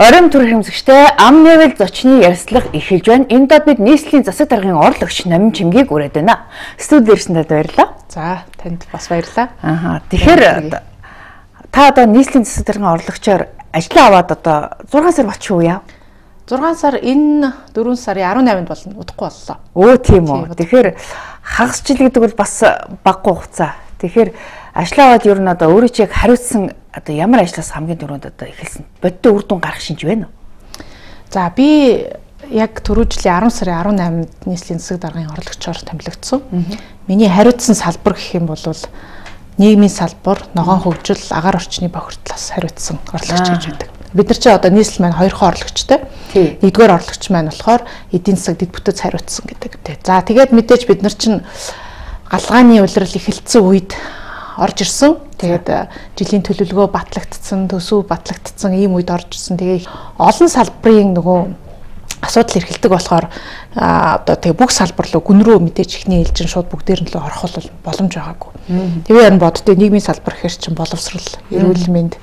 Оройн төр хэмжигчтэй ам нэвэл зочны ярьслах эхэлж байна. Энэ дод бид нийслэлийн засаг даргын орлогч Номин Чимгийг үрээд байна. Студид ирсэндээ баярлалаа. За, танд бас баярлалаа. Тэгэхээр та одоо нийслэлийн засаг даргын орлогчоор ажлаа аваад одоо 6 сар болчихоо яа? 6 сар энэ 4 сарын 18-нд болно. Удахгүй боллоо. Өө тийм үү. Тэгэхээр хагас жил гэдэг бол бас баггүй хугацаа. Тэгэхээр ажлаа аваад ер нь одоо өөрөө чи яг хариуцсан одоо ямар ажлаас хамгийн түрүүнд одоо эхэлсэн? Бодит үр дүн гарах шинж байна уу? За би яг түрүү жилийн 10 сарын 18-нд нийслэлийн засаг даргын орлогчоор томилогдсон. Миний хариуцсан салбар гэх юм бол нийгмийн салбар, ногоон хөгжил, агаар орчны бохирдлоос хариуцсан орлогч гэж байдаг. Бид нар чи одоо нийслэл маань 2 орлогчтой. Нэгдүгээр орлогч маань болохоор эдийн засаг дэд бүтц хариуцсан гэдэг. За тэгээд мэдээж бид нар чинь галгааны улирал эхэлсэн үед орж ирсэн. Тэгээд жилийн төлөвлөгөө батлагдсан, төсөв батлагдсан ийм үед орж ирсэн. Тэгээ олон салбарын нөгөө асуудал эрхэлдэг болохоор одоо тэгээ бүх салбар руу гүн рүү мэдээж ихний ээлжин шууд бүгдээр нь л орох бол боломж байгаагүй. Тэгээ энэ боддоо нийгмийн салбар гэхэр чинь боловсрал, эрүүл мэнд,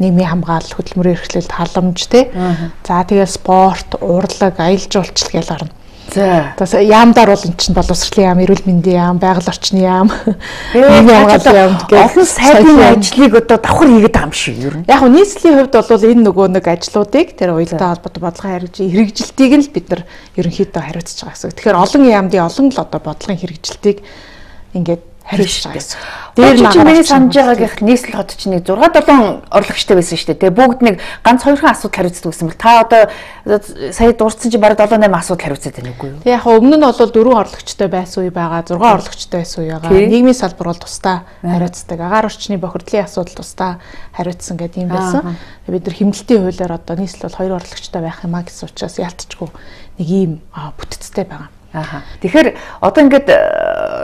нийгмийн хамгаалал, хөдөлмөрийн эрхлэлт, халамж тий. За тэгээ спорт, урлаг, аялал жуулчлал гэж гарна. За яамдаар бол эн чинь боловсролын яам, эрүүл мэндийн яам, байгаль орчны яам, нийгмийн хамгааллын яам гэх олон сайдын ажлыг одоо давхар хийгээд байгаа юм шиг ер нь. Яг нь нийслэлийн хувьд бол энэ нөгөө нэг ажлуудыг тэр уялдаа холбоотой бодлогын хэрэгжилтийг нь л бид нар ерөнхийдөө хариуцж байгаа гэсэн. Тэгэхээр олон яамдын олон л одоо бодлогын хэрэгжилтийг ингээд хариуцж байгаа гэсэн. Дээр нь санаж байгаа гэх нийслэл хот чинь 6-7 орлогчтой байсан шүү дээ. Тэгээ бүгд нэг ганц 2 асуудал хариуцдаг гэсэн бэл та одоо сая дурдсан чи бараг 7-8 асуудал хариуцдаг байна үгүй юу? Тэгээ яг өмнө нь бол 4 орлогчтой байсан үе байгаа, 6 орлогчтой байсан үе байгаа. Нийгмийн салбар бол тусдаа хариуцдаг. Агаар орчны бохирдлын асуудал тусдаа хариуцсан гэдэг юм байсан. Бид нар хэмнэлтийн хуулиар одоо нийслэл бол 2 орлогчтой байх юмаа гэсэн учраас ялтчгүй нэг ийм бүтцтэй байгаа. Тэгэхээр одоо ингээд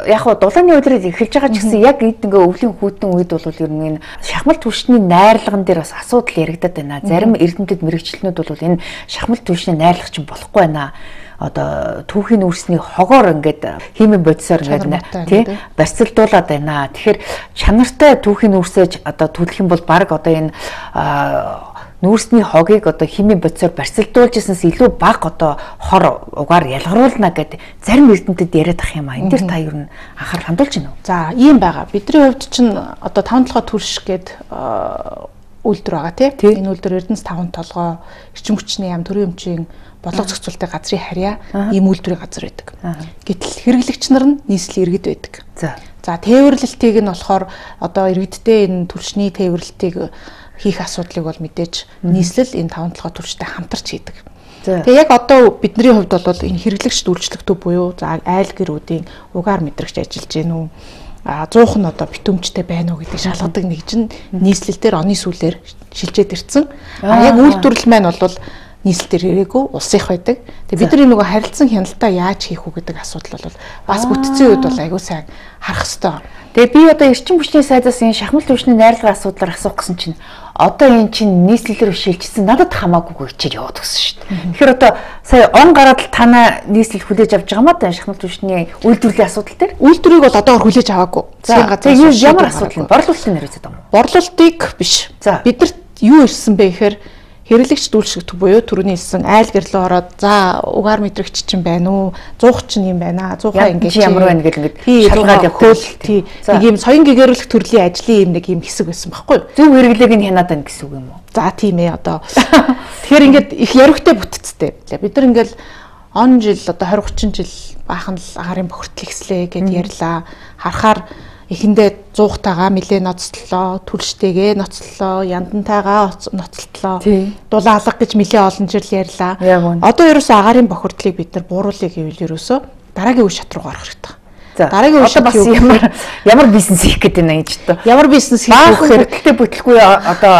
яг хуу дулааны улирал эхэлж байгаа ч гэсэн яг эд ингээ өвлийн хүүтэн үед бол ер нь энэ шахмал түвшний найрлаган дээр бас асуудал яригадаад байна. Зарим эрдэмтэд мэрэгчлэнүүд бол энэ шахмал түвшний найрлагч болох байна. Одоо түүхийн үрсний хогоор ингээд химийн бодисоор ингээд тий барьцалдуулаад байна. Тэгэхээр чанартай түүхийн үрсэж одоо төлөх юм бол баг одоо энэ нүүрсний хогийг одоо химийн бодисоор барьцалдуулж ирсэнээс илүү бага одоо хор угаар ялгаруулна гэдэг зарим эрдэмтэд яриад ах юм аа. Энэ дээр та ер нь анхаарал хандуулж байна уу? За ийм байгаа. Бидний хувьд чинь одоо 5 толгой төрш гээд үйлдвэр байгаа тий. Энэ үйлдвэр Эрдэнэс 5 толгой, эрчим хүчний яам, төрийн өмчийн бодлого зохицуулалтын газрын харьяа ийм үйлдвэрийн газар байдаг. Гэтэл хэрэглэгч нар нь нийслэл иргэд байдаг. За тээвэрлэлтийг нь болохоор одоо иргэдтэй энэ түлшний тээвэрлэлтийг хийх асуудлыг бол мэдээж нийслэл энэ 5 толгой төрчтэй хамтарч хийдэг. Тэгээ яг одоо бидний хувьд бол энэ хэрэглэгч үйлчлэг төв буюу за айл гэрүүдийн угаар мэдрэгч ажиллаж гин үү 100 нь одоо битүүмжтэй байна уу гэдэг шалгадаг нэг чинь нийслэл дээр оны сүүлээр шилжээд ирсэн. Яг үйлдвэрлэл маань бол нийслэл дээр ирээгүй улсынх байдаг. Тэгээ бидний нөгөө харилцан хяналтаа яаж хийх үү гэдэг асуудал бол бас бүтцийн үед бол аягүй сайн харах хэрэгтэй. Тэгээ би одоо эрчим хүчний сайдаас энэ шахмал түвшний найрлагын асуудлаар асуух гэсэн чинь одоо энэ чинь нийслэлээр шилжчихсэн надад хамаагүй хичээж яваад гисэн шүү дээ. Тэгэхээр одоо сая он гараад л танаа нийслэл хүлээж авч байгаа маа да шахмал түвшний үйлдвэрлэлийн асуудал дээр. Үйлдвэрийг бол одоогор хүлээж аваагүй. Тэгээ ямар асуудал вэ? Борлуулалтын нэрвэзэд юм уу? Борлуулалтыг биш. Бидэрт юу ирсэн бэ гэхээр хэрэглэгч дүүлшигт буюу түрүүний хэлсэн айл гэрлөө ороод за угаар мэдрэгч чинь байна уу 100 чинь юм байна 100-аа ингэж ямар байна гэл ингэж шалгаад явах тий нэг юм соён гэгэрүүлэх төрлийн ажлын юм нэг юм хэсэг байсан байхгүй зөв хэрэглээг нь хянаад байна гэсэн үг юм уу за тийм ээ одоо тэгэхээр ингээд их яригтай бүтцтэй бид нар ингээл он жил одоо 20 30 жил баахан л агарын бохирдол ихслээ гэд ярьлаа харахаар эхэндээ 100-тайгаа нэлээ ноцтлоо, түлштэйгээ ноцтлоо, яндантайгаа ноцтлоо. Дулаалга гэж нэлээ олон жил ярьлаа. Одоо ерөөсөө агарын бохирдлыг бид нар бууруулъя гэвэл ерөөсөө дараагийн үе шат руу гарах хэрэгтэй. Дараагийн үе шат бас ямар бизнес хийх гэдэг нь гэж тоо. Ямар бизнес хийх вэ гэхээр бүтлгүй одоо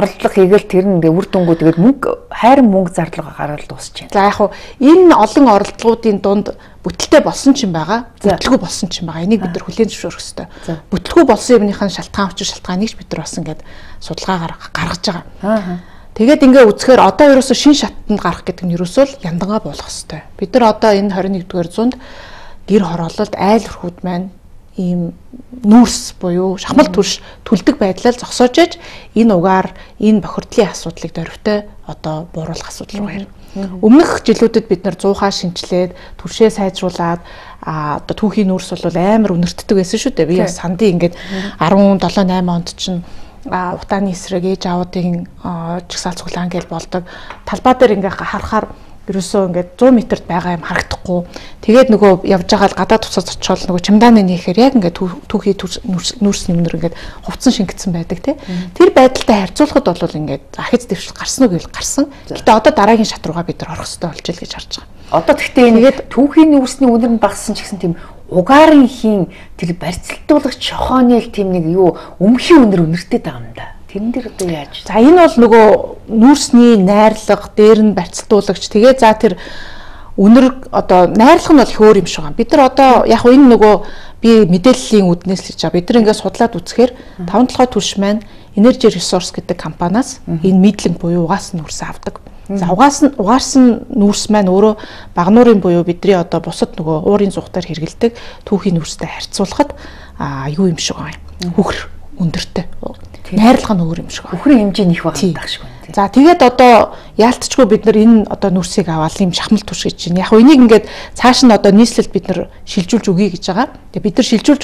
оролдлого хийгээл тэр нь ингээ үр дүнгуу тэгээд мөнгө хайрын мөнгө зарлага гараад дуусч байна. За яг хуу энэ олон оролдлогуудын дунд бүтэлтэй болсон ч юм байгаа, бүтлгүй болсон ч юм байгаа. Энийг бид нар хүлээн зөвшөөрөх хэрэгтэй. Бүтлгүй болсон юмныхаа шалтгаан учир шалтгааныг бид нар бас ингээд судалгаагаар гаргаж байгаа. Тэгээд ингээ үзэхээр одоо ерөөсөө шин шатанд гарах гэдэг нь ерөөсөө л яндангаа болох хэрэгтэй. Бид нар одоо энэ 21-р зуунд гэр хороололд айл өрхүүд маань ийм нүүрс буюу шахмал түлш түлдэг байдлаар зогсоож иж энэ угаар энэ бохирдлын асуудлыг дөрвтэй одоо бууруулах асуудал руу ирнэ. Өмнөх жилүүдэд бид нар 100-аа шинжилээд түлшээ сайжруулад одоо түүхийн нүүрс бол амар өнөртдөг байсан шүү дээ. Би бас сандын ингээд 17-8 онд чинь утааны эсрэг ээж аавуудын чагсаал цуглаан гэж болдог. Талбай дээр ингээ харахаар ерөөсөө ингээд 100 метрт байгаа юм харагдахгүй. Тэгээд нөгөө явж байгаа л гадаад туцаас очиод нөгөө чемодааны нээхээр яг ингээд түүхий нүүрсний өмнөр ингээд хувцсан шингэсэн байдаг тий. Тэр байдалтай харьцуулахад бол ингээд ахиц дэвшил гарсан уу гэвэл гарсан. Гэтэ одоо дараагийн шат руугаа бид нар орох хэрэгтэй болж ил гэж харж байгаа. Одоо тэгтээ ингээд түүхий нүүрсний үнэр нь багассан ч гэсэн тийм угаарын хийн тэр барьцалтуулагч шохооны л тийм нэг юу өмхийн үнэр үнэртэй байгаа юм да. Тэрэн дээр одоо яаж? За энэ бол нөгөө нүүрсний найрлага, дээр нь барьцалтуулагч. Тэгээ за тэр үнэр одоо найрлага нь бол хөөр юм шиг байна. Бид нар одоо яг энэ нөгөө би мэдээллийн үднээс л хийж байгаа. Бид нар ингээд судлаад үзэхээр 5-7 түлш маань Energy Resource гэдэг компаниас энэ мэдлэг буюу угаасан нүүрс авдаг. За угаарсан нүүрс маань өөрөө багнуурын буюу бидний одоо бусад нөгөө уурын зүгтээр хэрэгэлдэг түүхийн нүүрстэй харьцуулахад юу юм шиг байна. Хөхр өндөртэй. Найрлага нь өөр юм шиг байна. Хөхрийн хэмжээ нэх байгаа шиг байна. За тэгээд одоо яалтчгүй бид нар энэ одоо нүрсийг аваад юм шахмал түш гэж чинь. Яг энийг ингээд цааш нь одоо нийслэлд бид нар шилжүүлж өгье гэж байгаа. Тэгээд бид нар шилжүүлж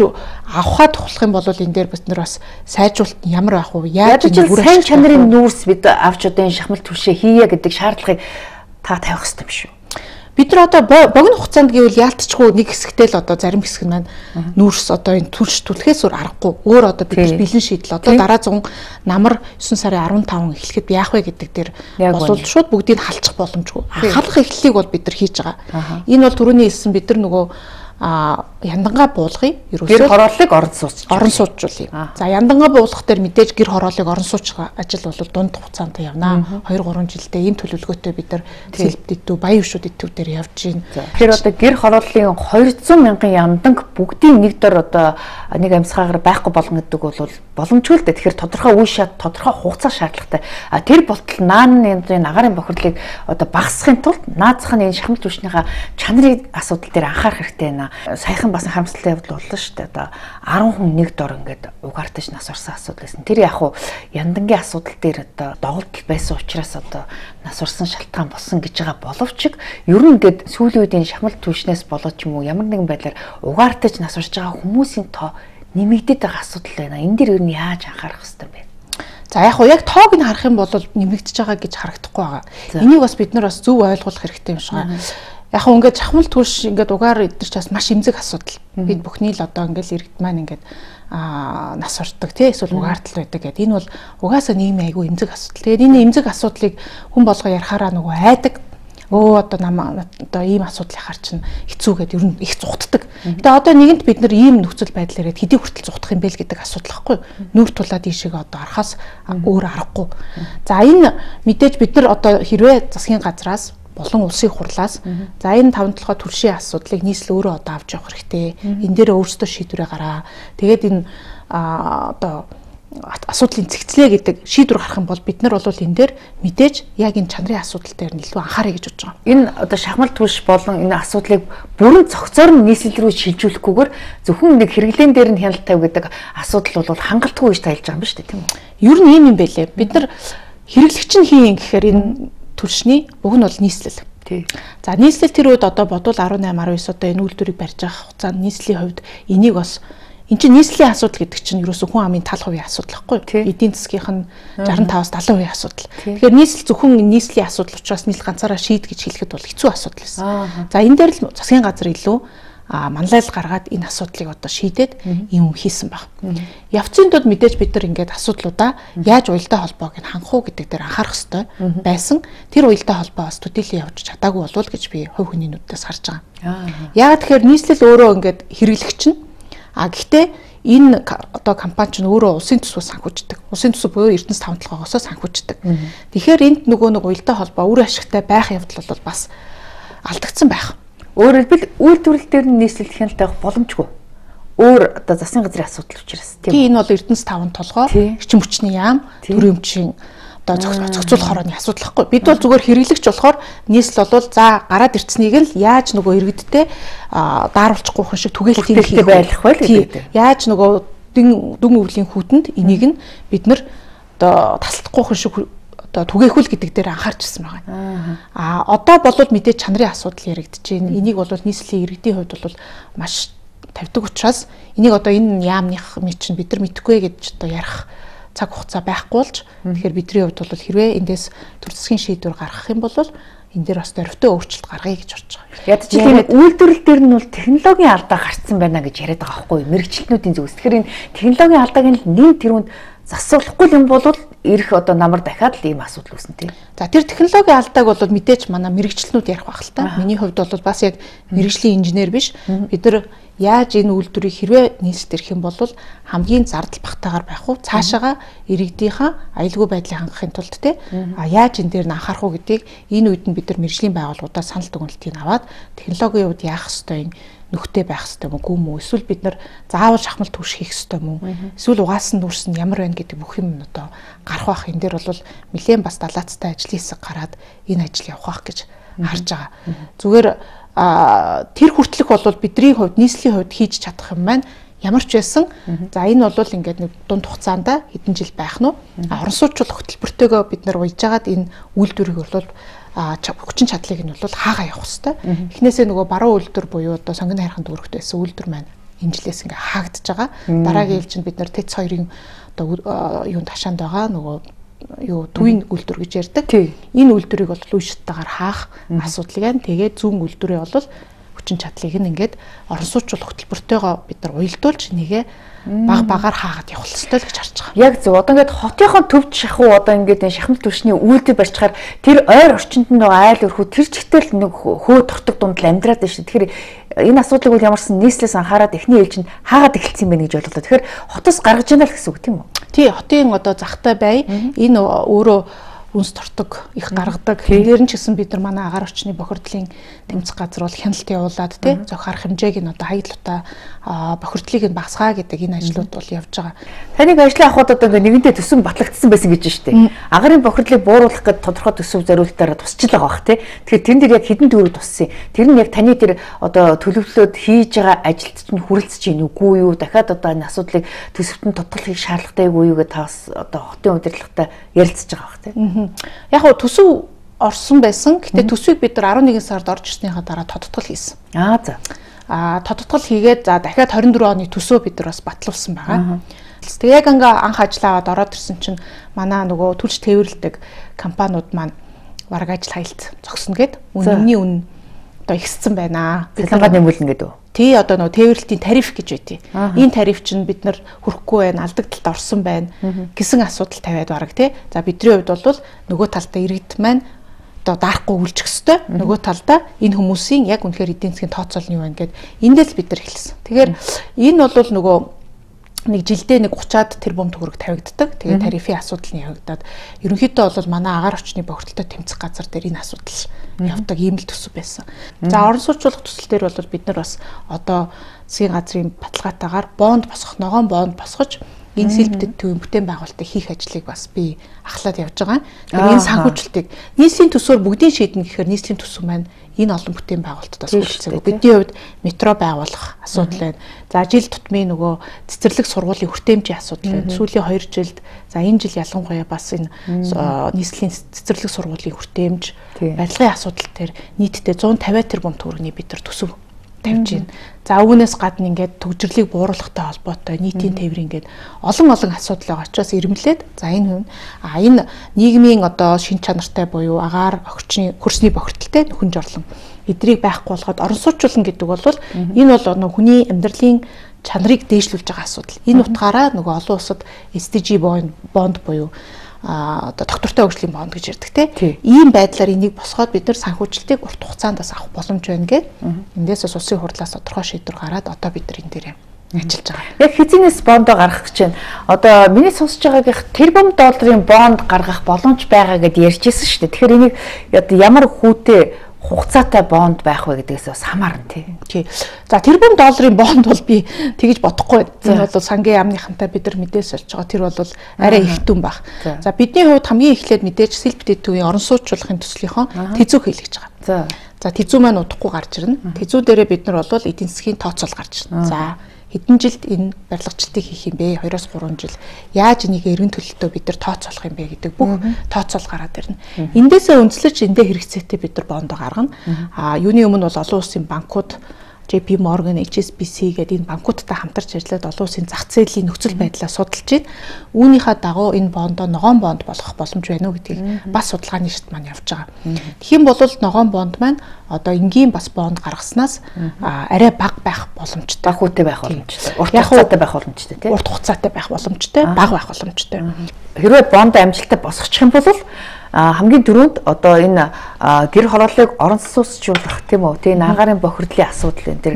авахад тухлах юм бол энэ дээр бид нар бас сайжруулалт ямар байх вэ? Яаж сайн чанарын нүрс бид авч одоо энэ шахмал түшээ хийе гэдэг шаардлагыг та тавих хэрэгтэй юм шүү. Бид нар одоо богино хугацаанд гэвэл яалтчгүй нэг хэсэгтэй л одоо зарим хэсэг нь маань нүүрс одоо энэ түлш түлхээс өөр аргагүй. Өөр одоо бид нар бэлэн шийдэл одоо дараа 100 намар 9 сарын 15 эхлэхэд яах вэ гэдэг дээр болвол шууд бүгдийг халчих боломжгүй. Халах эхлэлийг бол бид нар хийж байгаа. Энэ бол түрүүний хэлсэн бид нар нөгөө яндангаа буулгыг ерөөсөө гэр хорооллыг орон сууцжуулъя. За яндангаа буулгах дээр мэдээж гэр хорооллыг орон суучих ажил бол дунд хугацаанд явна. 2-3 жилдээ ийм төлөвлөгөөтэй бид нар сэлбэдэтүү баян өвшүүд итүү дээр явж байна. Тэгэхээр одоо гэр хорооллын 200 мянган янданг бүгдийн нэг дор одоо нэг амьсгаагаар байхгүй болгоно гэдэг бол боломжгүй л дээ. Тэгэхээр тодорхой үе шат, тодорхой хугацаа шаардлагатай. Тэр болтол нааны энэ агарын бохирлыг одоо багасгахын тулд наазах нь энэ шахмал түвшнийхээ чанарын асуудал дээр анхаарах хэрэгтэй байна. Саяхан бас харамсалтай явдал боллоо шүү дээ. Одоо 10 хүн нэг дор ингээд угаартаж нас орсон асуудал байсан. Тэр яг уу яндангийн асуудал дээр одоо доголдол байсан учраас одоо нас орсон шалтгаан болсон гэж байгаа боловч ер нь ингээд сүүлийн үеийн шахмал түвшнээс болоод ч юм уу ямар нэгэн байдлаар угаартаж нас орж байгаа хүмүүсийн тоо нэмэгдээд байгаа асуудал байна. Энэ дээр ер нь яаж анхаарах хэрэгтэй бэ? За яг уу яг тоог нь харах юм бол нэмэгдэж байгаа гэж харагдахгүй байгаа. Энийг бас бид нар бас зөв ойлгох хэрэгтэй юм шиг байна. Яг хөө ингээд шахмал түлш ингээд угаар идэрч бас маш эмзэг асуудал. Бид бүхний л одоо ингээд иргэд маань ингээд нас ордог тий эсвэл угаартал байдаг гэдэг. Энэ бол угаасаа нийгмийн айгүй эмзэг асуудал. Тэгээд энэ эмзэг асуудлыг хүн болго ярихаараа нөгөө айдаг. Одоо ийм асуудлыг хар чинь хэцүү гэдээ ер нь их зугтдаг. Тэгээ одоо нэгэнт бид нар ийм нөхцөл байдлаар хэдий хүртэл зугтах юм бэ л гэдэг асуудал байхгүй. Нүр тулаад ийшээ одоо арахаас өөр аргагүй. За энэ мэдээж бид нар одоо хэрвээ засгийн газраас болон улсын хурлаас за энэ 5-7 түлшийн асуудлыг нийслэл өөрөө одоо авч явах хэрэгтэй. Энэ дээр өөрсдөө шийдвэрээ гараа. Тэгээд энэ одоо асуудлын цэгцлээ гэдэг шийдвэр гарах юм бол бид нар бол энэ дээр мэдээж яг энэ чанарын асуудал дээр илүү анхаарай гэж бодож байгаа. Энэ одоо шахмал түлш болон энэ асуудлыг бүрэн цогцоор нь нийслэл рүү шилжүүлэхгүйгээр зөвхөн нэг хэрэглэн дээр нь хяналт тавь гэдэг асуудал бол хангалтгүй гэж тайлж байгаа юм ба шүү дээ тийм үү? Ер нь ийм юм байлээ. Бид нар хэрэглэгч нь хийн гэхээр энэ түлшний уг нь бол нийслэл. За нийслэл тэр үед одоо бодвол 18 19 одоо энэ үйлдвэрийг барьж байгаа хугацаанд нийслэлийн хувьд энийг бас энэ чинь нийслэлийн асуудал гэдэг чинь ерөөсөө хүн амын тал хувийн асуудал байхгүй юу? Эдийн засгийнх нь 65-аас 70% асуудал. Тэгэхээр нийслэл зөвхөн нийслэлийн асуудал учраас нийслэл ганцаараа шийд гэж хэлэхэд бол хэцүү асуудал байсан. За энэ дээр л засгийн газар илүү манлайл гаргаад энэ асуудлыг одоо шийдээд юм хийсэн баг. Явцын тулд мэдээж бид нар ингээд асуудлуудаа яаж уялдаа холбоог нь хангах уу гэдэг дээр анхаарах хэрэгтэй байсан. Тэр уялдаа холбоо бас төдийлөн явж чадаагүй болов гэж би хувь хүний нүдээс харж байгаа. Яагаад тэгэхээр нийслэл өөрөө ингээд хэрэглэгч нь гэхдээ энэ одоо компани ч өөрөө улсын төсвөөс санхүүждэг. Улсын төсөв буюу Эрдэнэс 5-7-оос санхүүждэг. Тэгэхээр энд нөгөө нэг уялдаа холбоо үр ашигтай байх явдал бол бас алдагдсан байх. Өөрөөр хэлбэл үйлдвэрлэл дээр нь нийслэл хяналт авах боломжгүй. Өөр одоо засгийн газрын асуудал учраас тийм. Энэ бол Эрдэнэс 5 толгой, эрчим хүчний яам, төрийн өмчийн одоо зохицуулах хорооны асуудал байхгүй. Бид бол зүгээр хэрэглэгч болохоор нийслэл бол за гараад ирцнийг л яаж нөгөө иргэдтэй дааруулчихгүй хүн шиг түгээлтийн байлгах байл гэдэг. Яаж нөгөө дүн өвлийн хүүтэнд энийг нь бид нар одоо тасалдахгүй хүн шиг одоо түгээхүүл гэдэг дээр анхаарч ирсэн байгаа. Одоо болоод мэдээж чанарын асуудал яригдэж байна. Энийг бол нийслэлийн иргэдийн хувьд бол маш тавьдаг учраас энийг одоо энэ яамных чинь бид нар мэдэхгүй гэж одоо ярих цаг хугацаа байхгүй болж тэгэхээр бидний хувьд бол хэрвээ эндээс төр засгийн шийдвэр гаргах юм бол энэ дээр бас дөрвтэй өөрчлөлт гаргая гэж бодож байгаа. Ядаж тийм үйлдвэрлэл дээр нь бол технологийн алдаа гарцсан байна гэж яриад байгаа байхгүй юу? Мэргэжилтнүүдийн зүгээс. Тэгэхээр энэ технологийн алдааг нь нэг тэрүүнд засварлахгүй юм бол ирэх одоо намар дахиад л ийм асуудал үүснэ тийм. За тэр технологийн алдааг бол мэдээж манай мэргэжилтнүүд ярих байх л та. Миний хувьд бол бас яг мэргэжлийн инженер биш. Бид нар яаж энэ үйлдвэрийг хэрвээ нийслэлд ирэх юм бол хамгийн зардал багтаагаар байх уу? Цаашаага иргэдийнхаа аюулгүй байдлыг хангахын тулд те яаж энэ дээр нь анхаарах уу гэдгийг энэ үед нь бид нар мэргэжлийн байгууллагуудаа санал дүгнэлтийг аваад технологийн үед яах ёстой юм нөхтэй байх ёстой юм уу? Эсвэл бид нар заавал шахмал түвш хийх ёстой юм уу? Эсвэл угаасан нүрс нь ямар байна гэдэг бүх юм одоо гарах байх. Энэ дээр бол нэлээд бас далаацтай ажлын хэсэг гараад энэ ажил явах байх гэж харж байгаа. Зүгээр тэр хүртэлх бол бидний хувьд нийслэлийн хувьд хийж чадах юм байна. Ямар ч байсан за энэ бол ингээд нэг дунд хугацаанд хэдэн жил байх нь орон сууцлах хөтөлбөртөөгөө бид нар уйлж агаад энэ үйлдвэрийг бол хүчин чадлыг нь бол хаагаа явах хэвээр. Эхнээсээ нөгөө баруун үйлдвэр буюу одоо сонгоны хайрхан дүүрэгт байсан үйлдвэр маань энэ жилээс ингээ хаагдж байгаа. Дараагийн ил чинь бид нар ТЭЦ 2-ын одоо юунд хашаанд байгаа нөгөө төвийн үйлдвэр гэж ярьдаг. Энэ үйлдвэрийг бол үешттэйгээр хаах асуудлыг байна. Тэгээд зүүн үйлдвэрээ бол хүчин чадлыг нь ингээд орон сууцлах хөтөлбөртөөгөө бид нар уялдуулж нэгэ багаар хаагаад явах хэрэгтэй л гэж харж байгаа. Яг зөв. Одоо ингээд хотынхон төвд шахуу одоо ингээд шахмал түвшний үйлдэл барьчихаар тэр ойр орчинд нь байгаа айл өрхөө тэр чигтэл нэг хөө тортог дунд л амьдраад байна шүү. Тэгэхээр энэ асуудлыг бол ямарсан нийслэлээс анхаарад эхний ээлж нь хаагаад эхэлсэн юм бэ гэж бодлоо. Тэгэхээр хотоос гаргаж яана л гэсэн үг тийм үү? Тий, хотын одоо захтай бай энэ өөрөө үнс тортог их гаргадаг. Тэрээр нь ч гэсэн бид нар манай агаар орчны бохирдлын тэмцэх газар бол хяналт явуулаад тий зөх харах хэмжээг нь одоо хаягдлуудаа бохирдлыг нь багасгаа гэдэг энэ ажлууд бол явж байгаа. Таныг ажлын ахуйд одоо нэгэнтээ төсөв батлагдсан байсан гэж байна шүү дээ. Агарын бохирдлыг бууруулах гэдэг тодорхой төсөв зориулалтаараа тусч л байгаа бах тий. Тэгэхээр тэрэн дээр яг хэдэн төгрөг туссан. Тэр нь яг таны тэр одоо төлөвлөлөөд хийж байгаа ажилд чинь хүрэлцэж гин үгүй юу? Дахиад одоо энэ асуудлыг төсөвтөнд тодтолохыг шаардлагатайгүй юу гэж таас одоо хотын удирдлагатай ярилцж байгаа бах тий. Яг гоо төсөв орсон байсан. Гэтэ төсвийг бид нар 11 сард орж ирснийхаа дараа тодтгол хийсэн. За. Тодтгол хийгээд за дахиад 24 оны төсөө бид нар бас батлуулсан байгаа. Тэгээ яг ингээ анх ажиллаа аваад ороод ирсэн чинь манай нөгөө түлш тээвэрлдэг компаниуд маань бараг ажил хаялт зогсно гэд үнэмний үн одоо ихссэн байна. Цалингаа нэмүүлнэ гэдэг үү? Тий одоо нөгөө тээвэрлтийн тариф гэж байдیں۔ Энэ тариф чинь бид нар хүрэхгүй байна, алдагдлалд орсон байна гэсэн асуудал тавиад бараг тий. За бидний хувьд бол нөгөө талдаа иргэд маань одоо даахгүй үлжих хэвээр нөгөө талдаа энэ хүмүүсийн яг үнэхээр эдийн засгийн тооцоол нь юу байна гэд эндээс бид нар эхэлсэн. Тэгэхээр энэ бол нөгөө нэг жилдээ нэг 30-аад тэрбум төгрөг тавигддаг. Тэгээ тарифын асуудал нь явагдаад ерөнхийдөө бол манай агаар орчны бохирдолтой тэмцэх газар дээр энэ асуудал явдаг ийм л төсөв байсан. За орон сууцлах төсөл дээр бол бид нар бас одоо засгийн газрын баталгаатаагаар бонд босгох, ногоон бонд босгож энэ сэлбэдэд төвийн бүтээн байгуулалтыг хийх ажлыг бас би ахлаад явж байгаа. Тэгэхээр энэ санхүүжилтийг нийслэлийн төсөөр бүгдийн шийднэ гэхээр нийслэлийн төсөв маань энэ олон бүтээн байгуулалтаас үйлчлэдэг. Бидний хувьд метро байгуулах асуудал байна. За жил тутмын нөгөө цэцэрлэг сургуулийн хүртээмжийн асуудал байна. Сүүлийн 2 жилд за энэ жил ялангуяа бас энэ нийслэлийн цэцэрлэг сургуулийн хүртээмж барилгын асуудал төр нийтдээ 150 тэрбум төгрөгийн бид нар төсөв тавьж байна. За үүнээс гадна ингээд төгжрлийг бууруулахтай холбоотой нийтийн тээвэр ингээд олон асуудал байгаа учраас ирмэлээд за энэ нийгмийн одоо шин чанартай буюу агаар орчны хөрсний бохирдолтой нөхөн жорлон эдрийг байхгүй болгоод орон сууцлуулна гэдэг бол энэ бол хүний амьдралын чанарыг дээшлүүлж байгаа асуудал. Энэ утгаараа нөгөө олон улсад SDG бонд буюу одоо доктортой хөгжлийн бонд гэж ярьдаг те. Ийм байдлаар энийг босгоод бид нар санхүүжилтийг урт хугацаанд бас авах боломж байна гэд эндээс бас улсын хурлаас тодорхой шийдвэр гараад одоо бид нар энэ дээр ажиллаж байгаа. Яг хизэнээс бондоо гаргах гэж байна. Одоо миний сонсож байгаагийнх $1 бонд гаргах боломж байгаа гэдээ ярьжсэн шүү дээ. Тэгэхээр энийг одоо ямар хүүтэй хугацаатай бонд байх вэ гэдгээс бас хамаарна тий. За тэрбум долларын бонд бол би тэгэж бодохгүй. Энэ бол сангийн яамныхантай бид нар мэдээс олж байгаа. Тэр бол арай их дүн баг. За бидний хувьд хамгийн эхлээд мэдээж сэлбэдэд төвийн орон суучлахын төслийнхөө тэзүү хийлгэж байгаа. За тэзүү маань удахгүй гарч ирнэ. Тэзүү дээрээ бид нар бол эдийн засгийн тооцоол гарч ирнэ. За хэдэн жилд энэ барилгачдыг хийх юм бэ? 2-3 жил. Яаж энийг эргэн төлөлтөө бид нар тооцоолох юм бэ гэдэг бүх тооцоол гараад ирнэ. Эндээсээ үндэслэж эндээ хэрэгцээтэй бид нар бондо гаргана. Юуны өмнө бол олон улсын банкуд JP Morgan, HSBC гэдэг энэ банкудтай хамтарч ажиллаад олон улсын зах зээлийн нөхцөл байдлаа судалж байна. Үүнийхээ дагуу энэ бондоо ногоон бонд болгох боломж байна уу гэдгийг бас судалгааны шат маань явж байгаа. Тэгхийн бол ногоон бонд маань одоо энгийн бас бонд гаргаснаас арай бага байх боломжтой. Бага хүнтэй байх боломжтой. Урт хугацаатай байх боломжтой тийм. Урт хугацаатай байх боломжтой, бага байх боломжтой. Хэрвээ бонд амжилттай босгочих юм бол хамгийн дөрөнд одоо энэ гэр хорооллыг орон сууцжуулах тийм үү тийм агаарын бохирдлын асуудал энэ тэр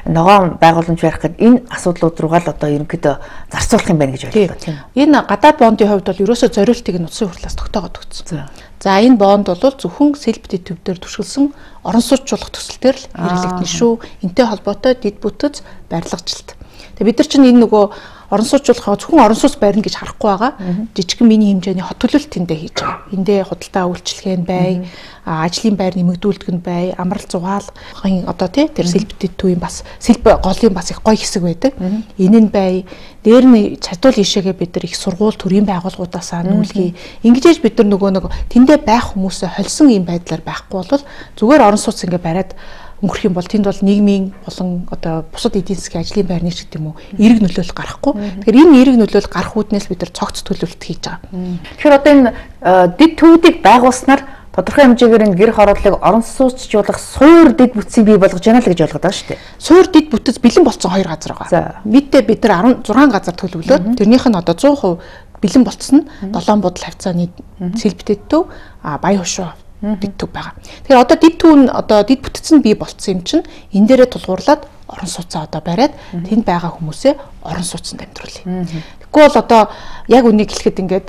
ногоон байгууламж барих гэдэг энэ асуудлууд руугаа л одоо ерөнхийдөө зарцуулах юм байна гэж бодлоо. Энэ гадаад бондын хувьд бол ерөөсөө зориултыг нь улсын хурлаас тогтоогоод өгсөн. За энэ бонд бол зөвхөн сэлбэдэд төвдөр түшгэлсэн орон сууцжуулах төсөлтөөр л хэрэглэгдэнэ шүү. Энтэй холбоотой дэд бүтэц барилгажилт. Тэгээ бид нар чинь энэ нөгөө орон сууцжуулахаа зөвхөн орон сууц барина гэж харахгүй байгаа. Жижигхэн мини хэмжээний хот төлөлт тэндээ хийж байгаа. Эндээ худалдаа үйлчлэгээ нь бай, ажлын байр нэмэгдүүлдэг нь бай, амрал зугаалгын одоо тэр сэлбэдэд төвийн бас сэлбэ голын бас их гоё хэсэг байдаг. Энэ нь бай. Дээр нь чадвал ишээгээ бид нар их сургууль төрийн байгууллагуудаасаа нүүлгий. Ингэж бид нар нөгөө нэг тэндээ байх хүмүүсээ холсон юм байдлаар байхгүй бол зүгээр орон сууц ингээ бариад өнгөрөх юм бол тэнд бол нийгмийн болон одоо бусад эдийн засгийн ажлын байрны ч гэдэг юм уу эерэг нөлөөлөл гарахгүй. Тэгэхээр энэ эерэг нөлөөлөл гарах үүднээс бид нар цогц төлөвлөлт хийж байгаа. Тэгэхээр одоо энэ дэд төвүүдийг байгуулснаар тодорхой хэмжээгээр энэ гэр хорооллыг орон сууцжуулах суур дэд бүтцийг бий болгож яана л гэж ойлгоод байгаа шүү дээ. Суур дэд бүтэц бэлэн болсон 2 газар байгаа. Мэдээ бид нар 16 газар төлөвлөөд тэрнийх нь одоо 100% бэлэн болцсон нь 7 будал хавцааны сэлбэдэд төв Баян хошуу дэд төв байгаа. Тэгэхээр одоо дэд төв нь одоо дэд бүтц нь бий болцсон юм чинь энэ дээрээ тулгуурлаад орон сууцаа одоо бариад тэнд байгаа хүмүүсээ орон сууцанд амьдруулъя. Тэгэхгүй бол одоо яг үнийг хэлэхэд ингээд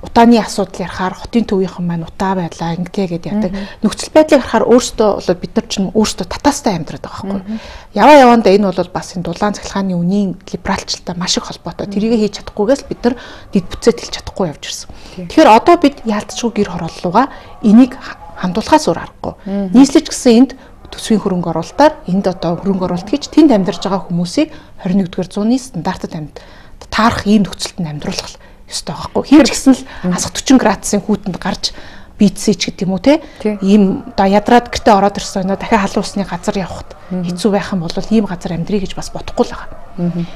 утааны асуудал ярахаар хотын төвийнхэн маань утаа байлаа ингэдэг яадаг. Нөхцөл байдлыг харахаар өөрсдөө бол бид нар ч өөрсдөө татаастай амьдраад байгаа байхгүй. Яваанда энэ бол бас энэ дулаан цахилгааны үнийн либералчлалтай маш их холбоотой. Тэрийг хийж чадахгүйгээс бид нар дэд бүтцээ хэлж чадахгүй явж ирсэн. Тэгэхээр одоо бид яалтчгүй гэр хорооллууга энийг хандуулахаас өөр аргагүй. Нийслэж гисэн энд төсвийн хөрөнгө оруулалтаар энд одоо хөрөнгө оруулалт гэж тэнд амьдарч байгаа хүмүүсийг 21-р зууны стандартад таарах ийм нөхцөлд амьдруулах ёстой байхгүй. Хийж гисэн л асах 40 градусын хүүтэнд гарч бийцээ ч гэдэг юм уу те. Ийм одоо ядраад гэртээ ороод ирсэн өнөө дахиад халуун усны газар явахд хэцүү байх юм бол ийм газар амьдрий гэж бас бодохгүй л байгаа.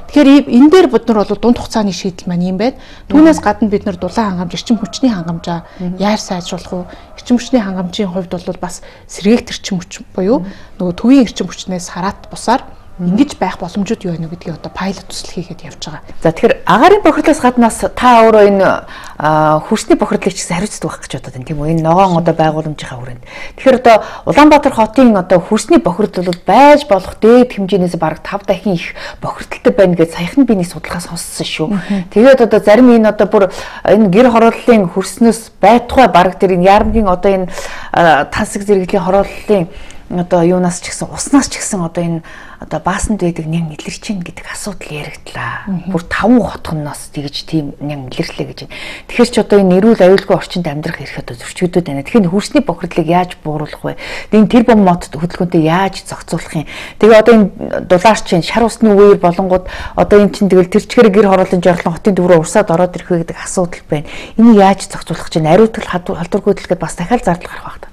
Тэгэхээр энэ дээр бид нар бол дунд хугацааны шийдэл маань юм байна. Түүнээс гадна бид нар дулаан хангамж, эрчим хүчний хангамжаа яаж сайжруулах вэ? Эрчим хүчний хангамжийн хувьд бол бас сэргээгт эрчим хүч буюу нөгөө төвийн эрчим хүчнээс хараат бусаар ингэж байх боломжууд юу вэ гэдгийг одоо пайлот төсөл хийгээд явж байгаа. За тэгэхээр агаарын бохирдлоос гаднаас та өөрөө энэ хөрсний бохирдлыг ч гэсэн хариуцдаг байх гэж бодод байна тийм үү? Энэ ногоон одоо байгууламжийнхаа хүрээнд. Тэгэхээр одоо Улаанбаатар хотын одоо хөрсний бохирдол бол байж болох дээд хэмжээнээс бараг 5 дахин их бохирдолтой байна гэж саяхан би нэг судалгаа сонссон шүү. Тэгээд одоо зарим энэ одоо бүр энэ гэр хорооллын хөрснөөс байтугай бараг тэр энэ яармгийн одоо энэ тансаг зэрэглэлийн хорооллын одоо юунаас ч гэсэн уснаас ч гэсэн одоо энэ одоо баасанд байдаг нян илэрч ийн гэдэг асуудал яригдлаа. Бүр 5 хотгоноос тэгж тийм нян илэрлээ гэж байна. Тэгэхээр ч одоо энэ эрүүл аюулгүй орчинд амьдрах эрх одоо зөрчигдөд байна. Тэгэхээр хөрсний бохирдлыг яаж бууруулах вэ? Энэ тэр бом мод хөдөлгөөнтэй яаж зохицуулах юм? Тэгээ одоо энэ дулаарч чинь шар усны үеэр болонгууд одоо энэ чинь тэгэл тэр чигээр гэр хорооллын жорлон хотын төв рүү урсаад ороод ирэх вэ гэдэг асуудал байна. Энийг яаж зохицуулах чинь ариутгал халдваргүй төлөхөд бас дахиад зардал гарах байх та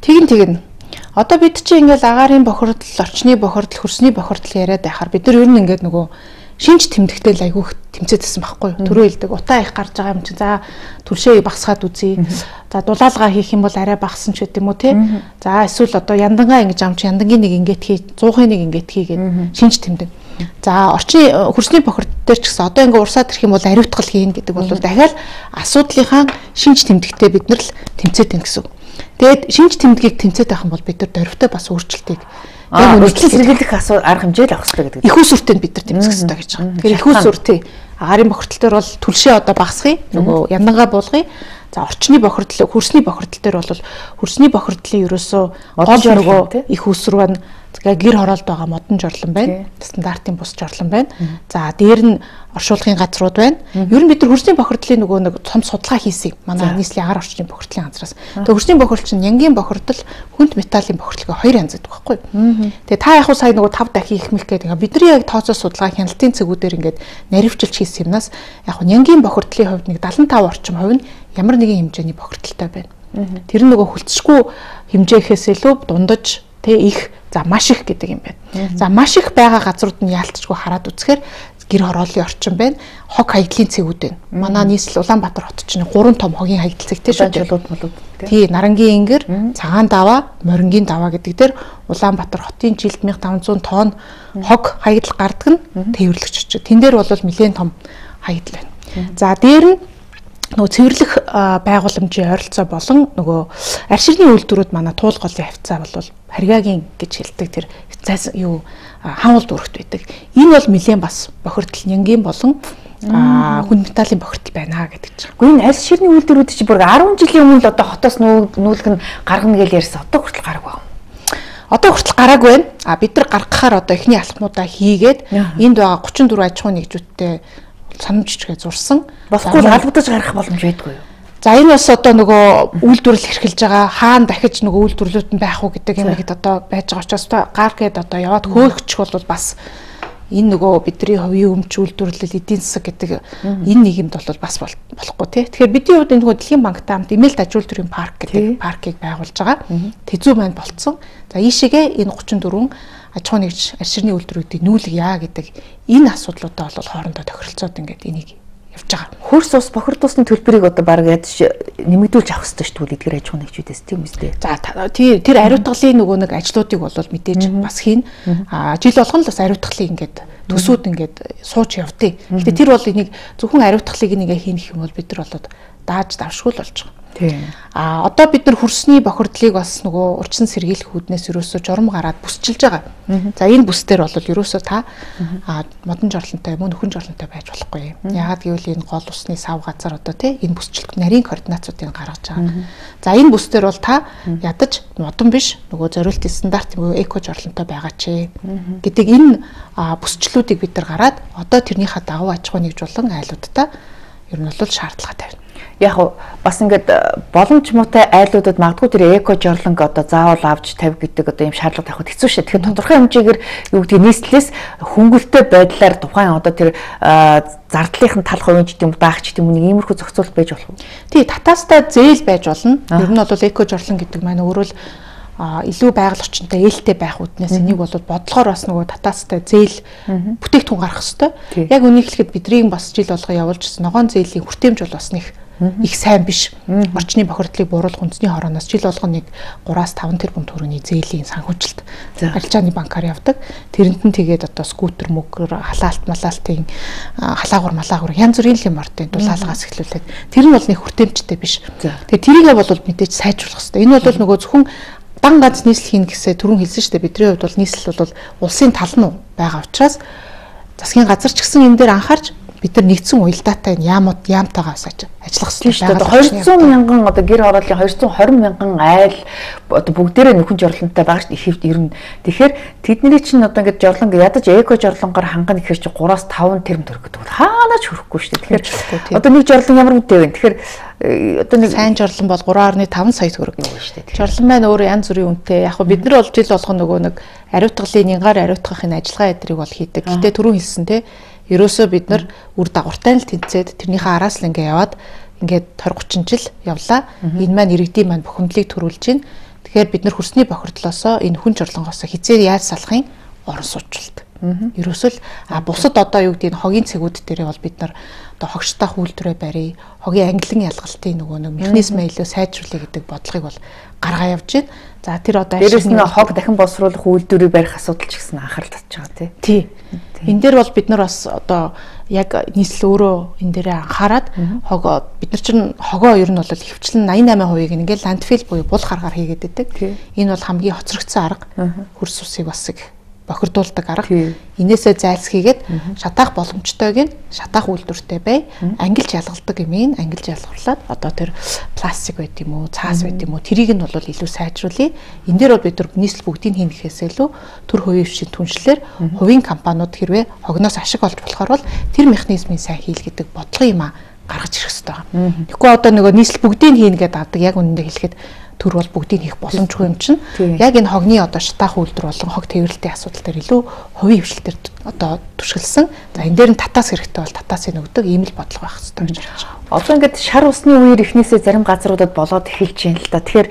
тийм. Тэгин одоо бид чинь ингээл агаарын бохирдол, орчны бохирдол, хөрсний бохирдол яриад байхаар бид нар ер нь ингээд нөгөө шинж тэмдэгтэй айгүйх тэмцээдсэн байхгүй юу? Төрөө хэлдэг утаа их гарч байгаа юм чинь за түлшээ багсгаад үзье. За дулаалгаа хийх юм бол арай багсан ч гэдэг юм уу те. За эсвэл одоо яндангаа ингэж амч яндангийн нэг ингээд хий, 100-ын нэг ингээд хийгээд шинж тэмдэг. За орчны хөрсний бохирдол дээр ч гэсэн одоо ингээд урсаад ирэх юм бол ариутгал хийн гэдэг бол дахиад асуудлынхаа шинж тэмдэгтэй бид нар л тэмцээдэн гэсэн. Тэгээд шинж тэмдгийг тэмцээд байх юм бол бид нар дөрвтэй бас өөрчлөлтийг яг үнэхээр сэргийлэх арга хэмжээ л авах хэрэгтэй гэдэг. Их усүртэй бид нар тэмцэх хэрэгтэй гэж байгаа. Тэгэхээр их усүр тий. Агаарын бохирдол дээр бол түлшээ одоо багасгая, нөгөө яндангаа буулгая. За орчны бохирдол, хөрсний бохирдол дээр бол хөрсний бохирдлын ерөөсөө гол нөгөө их үсрэг байна. Тэгээ гэр хороолд байгаа модон жорлон байна. Стандартын бус жорлон байна. За дээр нь оршуулгын газрууд байна. Ер нь бид нар хөрсний бохирдлын нөгөө нэг том судалгаа хийсэн. Манай нийслэлийн агаар орчны бохирдлын газраас. Тэгээ хөрсний бохирдол чинь янгийн бохирдол, хүнд металлын бохирдол хоёр янз байдаг байхгүй юу? Тэгээ та яг сая нөгөө 5 дахин их мэх гэдэг. Бидний яг тооцоо судалгаа хяналтын цэгүүдээр ингээд наривчилж хийсэн юмнаас яг янгийн бохирдлын хувьд нэг 75 орчим хувь нь ямар нэгэн хэмжээний бохирдолтой байна. Тэр нь нөгөө хүлцэшгүй хэмжээхээс илүү дундаж их за маш их гэдэг юм байна. За маш их байгаа газрууд нь яалтчгүй хараад үзэхээр гэр хорооллын орчин байна. Хог хаягдлын цэгүүд байна. Манай нийслэл Улаанбаатар хот чинь 3 том хогийн хаягдал цэгтэй шүү. Тий, Нарангийн ингэр, Цагаан даваа, Морингийн даваа гэдэг дээр Улаанбаатар хотын жилд 1500 тонн хог хаягдал гардаг нь тээвэрлэгч очив. Тэн дээр бол нэлээд том хаягдал байна. За дээр нь нөгөө цэвэрлэх байгууламжийн ойролцоо болон нөгөө арширны үйлдвэрүүд манай туул голын хавцаа бол харьяагийн гэж хэлдэг тэр юу хаануул дүрхт байдаг. Энэ бол нэлээд бас бохирдол нянгийн болон хүнд металлын бохирдол байна гэдэг чинь. Гэхдээ энэ арширны үйлдвэрүүд чинь бүр 10 жилийн өмнө л одоо хотоос нүүлгэн гаргана гэж ярьсан. Одоо хүртэл гараагүй байна. Одоо хүртэл гараагүй байна. Бид нар гаргахаар одоо эхний алхмуудаа хийгээд энд байгаа 34 аж ахуй нэгжүүдтэй санамжчгээ зурсан. Босгүй албадаж гарах боломж байдгүй юу? За энэ бас одоо нөгөө үйлдвэрлэл эрхэлж байгаа хаана дахиж нөгөө үйлдвэрлэлүүд нь байх уу гэдэг юм ихэд одоо байж байгаа учраас гар гээд одоо яваад хөөгчих бол бас энэ нөгөө бидний хувийн өмч үйлдвэрлэл эдийн засаг гэдэг энэ нийгэмд бол бас болохгүй тий. Тэгэхээр бидний хувьд энэ нөгөө Дэлхийн банктай хамт эмээлт аж үйлдвэрийн парк гэдэг паркийг байгуулж байгаа. Тэзүү маань болцсон. За ийшээгээ энэ 34 аж ахуй нэгж арширны үйлдвэрүүдийг нүүлгийа гэдэг энэ асуудлуудаа бол хоорондоо тохиролцоод ингээд энийг явж байгаа. Хөрс ус бохирдуулсны төлбөрийг одоо баг ядаж нэмэгдүүлж авах хэрэгтэй шүү дээ эдгээр аж ахуй нэгжүүдээс тийм үстэй. За тэр ариутгалын нөгөө нэг ажлуудыг бол мэдээж бас хийн. Жил болгон л бас ариутгалын ингээд төсөөд ингээд сууж явдیں۔ Гэтэ тэр бол энийг зөвхөн ариутгалыг нэгэ хийнэх юм бол бид нар болоод дааж давшгүй л болж байгаа. Одоо бид нар хөрсний бохирдлыг бас нөгөө урьдчилан сэргийлэх үүднээс ерөөсөө журам гараад бүсчилж байгаа. За энэ бүс дээр бол ерөөсөө та модон жорлонтой мөн нөхөн жорлонтой байж болохгүй. Яагаад гэвэл энэ гол усны сав газар одоо тий энэ бүсчилт нарийн координацуудыг гаргаж байгаа. За энэ бүс дээр бол та ядаж модон биш нөгөө зориултын стандарт нөгөө эко жорлонтой байгаа ч гэдэг энэ бүсчлүүдийг бид нар гараад одоо тэрнийхээ дагуу аж ахуй нэгж болон айлуудтай ер нь бол шаардлагатай байна. Яг бас ингээд боломж муутай айлуудад магадгүй тэр эко жорлонг одоо заавал авч тавь гэдэг одоо юм шаардлага тавихд хэцүү шээ. Тэгэхээр тодорхой хэмжээгээр юу гэдэг нийслэлээс хөнгөлөлтөй байдлаар тухайн одоо тэр зардлынхын тал хувийн ч гэдэм даах ч гэдэм нэг иймэрхүү зохицуулт байж болох уу? Тий, татаастай зээл байж болно. Ер нь бол эко жорлон гэдэг маань өөрөө л илүү байгаль орчинтой ээлтэй байх үднээс энийг бол бодлогоор бас нөгөө татаастай зээл бүтээгдэхүүн гарах хэвээр. Яг үнийг хэлэхэд бидний бас жил болгоо явуулжсэн ногоон зээлийн хүртээмж бол бас нэг их сайн биш. Орчны бохирдлыг бууруулах үндэсний хорооноос жил болгоо нэг 3-5 тэрбум төгрөгийн зээлийн санхүүжилт арилжааны банкаар явдаг. Тэрэнд нь тэгээд одоо скутер мөгөр халаалт малаалтын халаагур янз бүрийн юм ортын дулаалгаас эхлүүлээд тэр нь бол нэг хүртээмжтэй биш. Тэгээд тэрийгээ бол мэдээж сайжруулах хэрэгтэй. Энэ бол нөгөө зөвхөн дан ганц нийслэл хийн гэсээ түрүүн хэлсэн шүү дээ. Бидний хувьд бол нийслэл бол улсын тал нь байгаа учраас засгийн газар ч гэсэн энэ дээр анхаарч бид нар нэгдсэн уялдаатай яамтайгаас ажиллах хэрэгтэй байна. 200 мянган одоо гэр хорооллын 220 мянган айл одоо бүгдээрээ нөхөн жорлонтой байгаа шүү дээ. Ер нь тэгэхээр тэдний чинь одоо ингээд жорлон ядаж эко жорлонгоор хангана гэхэр чи 3-5 тэрбум төгрөг гэдэг. Хаанаач хүрэхгүй шүү дээ. Тэгэхээр одоо нэг жорлон ямар үнэтэй вэ? Тэгэхээр одоо нэг сайн жорлон бол 3.5 сая төгрөг юм шүү дээ. Жорлон маань өөрөө янз бүрийн үнэтэй. Яг бид нар бол жил болгоно нөгөө нэг ариутгалын нянгаар ариутгахын ажиллагаа эдрийг бол хийдэг. Гэтэ түрүүн хэлсэн те ерөөсөө бид нар үр дагавартай л тэнцээд тэрнийхээ араас л ингээ яваад ингээд 20-30 жил явлаа. Энэ маань иргэдийн маань бухимдлыг төрүүлж байна. Тэгэхээр бид нар хөрсний бохирдлоосоо энэ хүн жорлонгоос хизээ яаж салахын орон суучлалт. Ерөөсөө л бусад одоо юу гэдэг нь хогийн цэгүүд дээрээ бол бид нар одоо хогштой үйлдвэрээ барья. Хогийн ангилан ялгалтын нөгөө нэг механизм илүү сайжруулъя гэдэг бодлогыг бол гаргаа явж байна. За тэр одоо дээрээс нь хог дахин боловсруулах үйлдвэрийг барих асуудал ч гэсэн анхаарал татж байгаа тий. Энэ дээр бол бид нар бас одоо яг нийслэл өөрөө энэ дээрээ анхаарад бид нар чинь хогоо ер нь бол хөвчлэн 88%-ийг ингээл ландфил буюу бул харгаар хийгээд байдаг. Энэ бол хамгийн хоцрогдсон арга хөрс усыг бас бохирдуулдаг арга. Инээсээ зайлсхийгээд шатаах боломжтойг нь шатаах үйлдвэртэй бай. Ангилж ялгалдаг юм ангилж ялгарлаад одоо тэр пластик байт юм уу, цаас байт юм уу, тэрийг нь бол илүү сайжруулъя. Энэ дээр бол бид нар нийслэл бүгдийг хийнэ гэхээс илүү төр хувийн хвшийн түншлэлээр хувийн компаниуд хэрвээ хогноос ашиг олж болохоор бол тэр механизмын сайн хийл гэдэг бодлого юм гаргаж ирэх хэрэгтэй байна. Тэгэхгүй одоо нөгөө нийслэл бүгдийг хийнэ гэдэг авдаг яг үнэндээ хэлэхэд төр бол бүгдийг хийх боломжгүй юм чинь. Яг энэ хогны одоо шатаах үйлдвэр болон хог тээвэрлэлтийн асуудал дээр илүү хувийн хвшилтээр одоо түшгэлсэн. За энэ дээр нь татаас хэрэгтэй бол татаасыг өгдөг ийм л бодлого байх хэрэгтэй гэж харж байгаа. Одоо ингээд шар усны үеэр эхнээсээ зарим газруудад болоод эхэлж байна л да. Тэгэхээр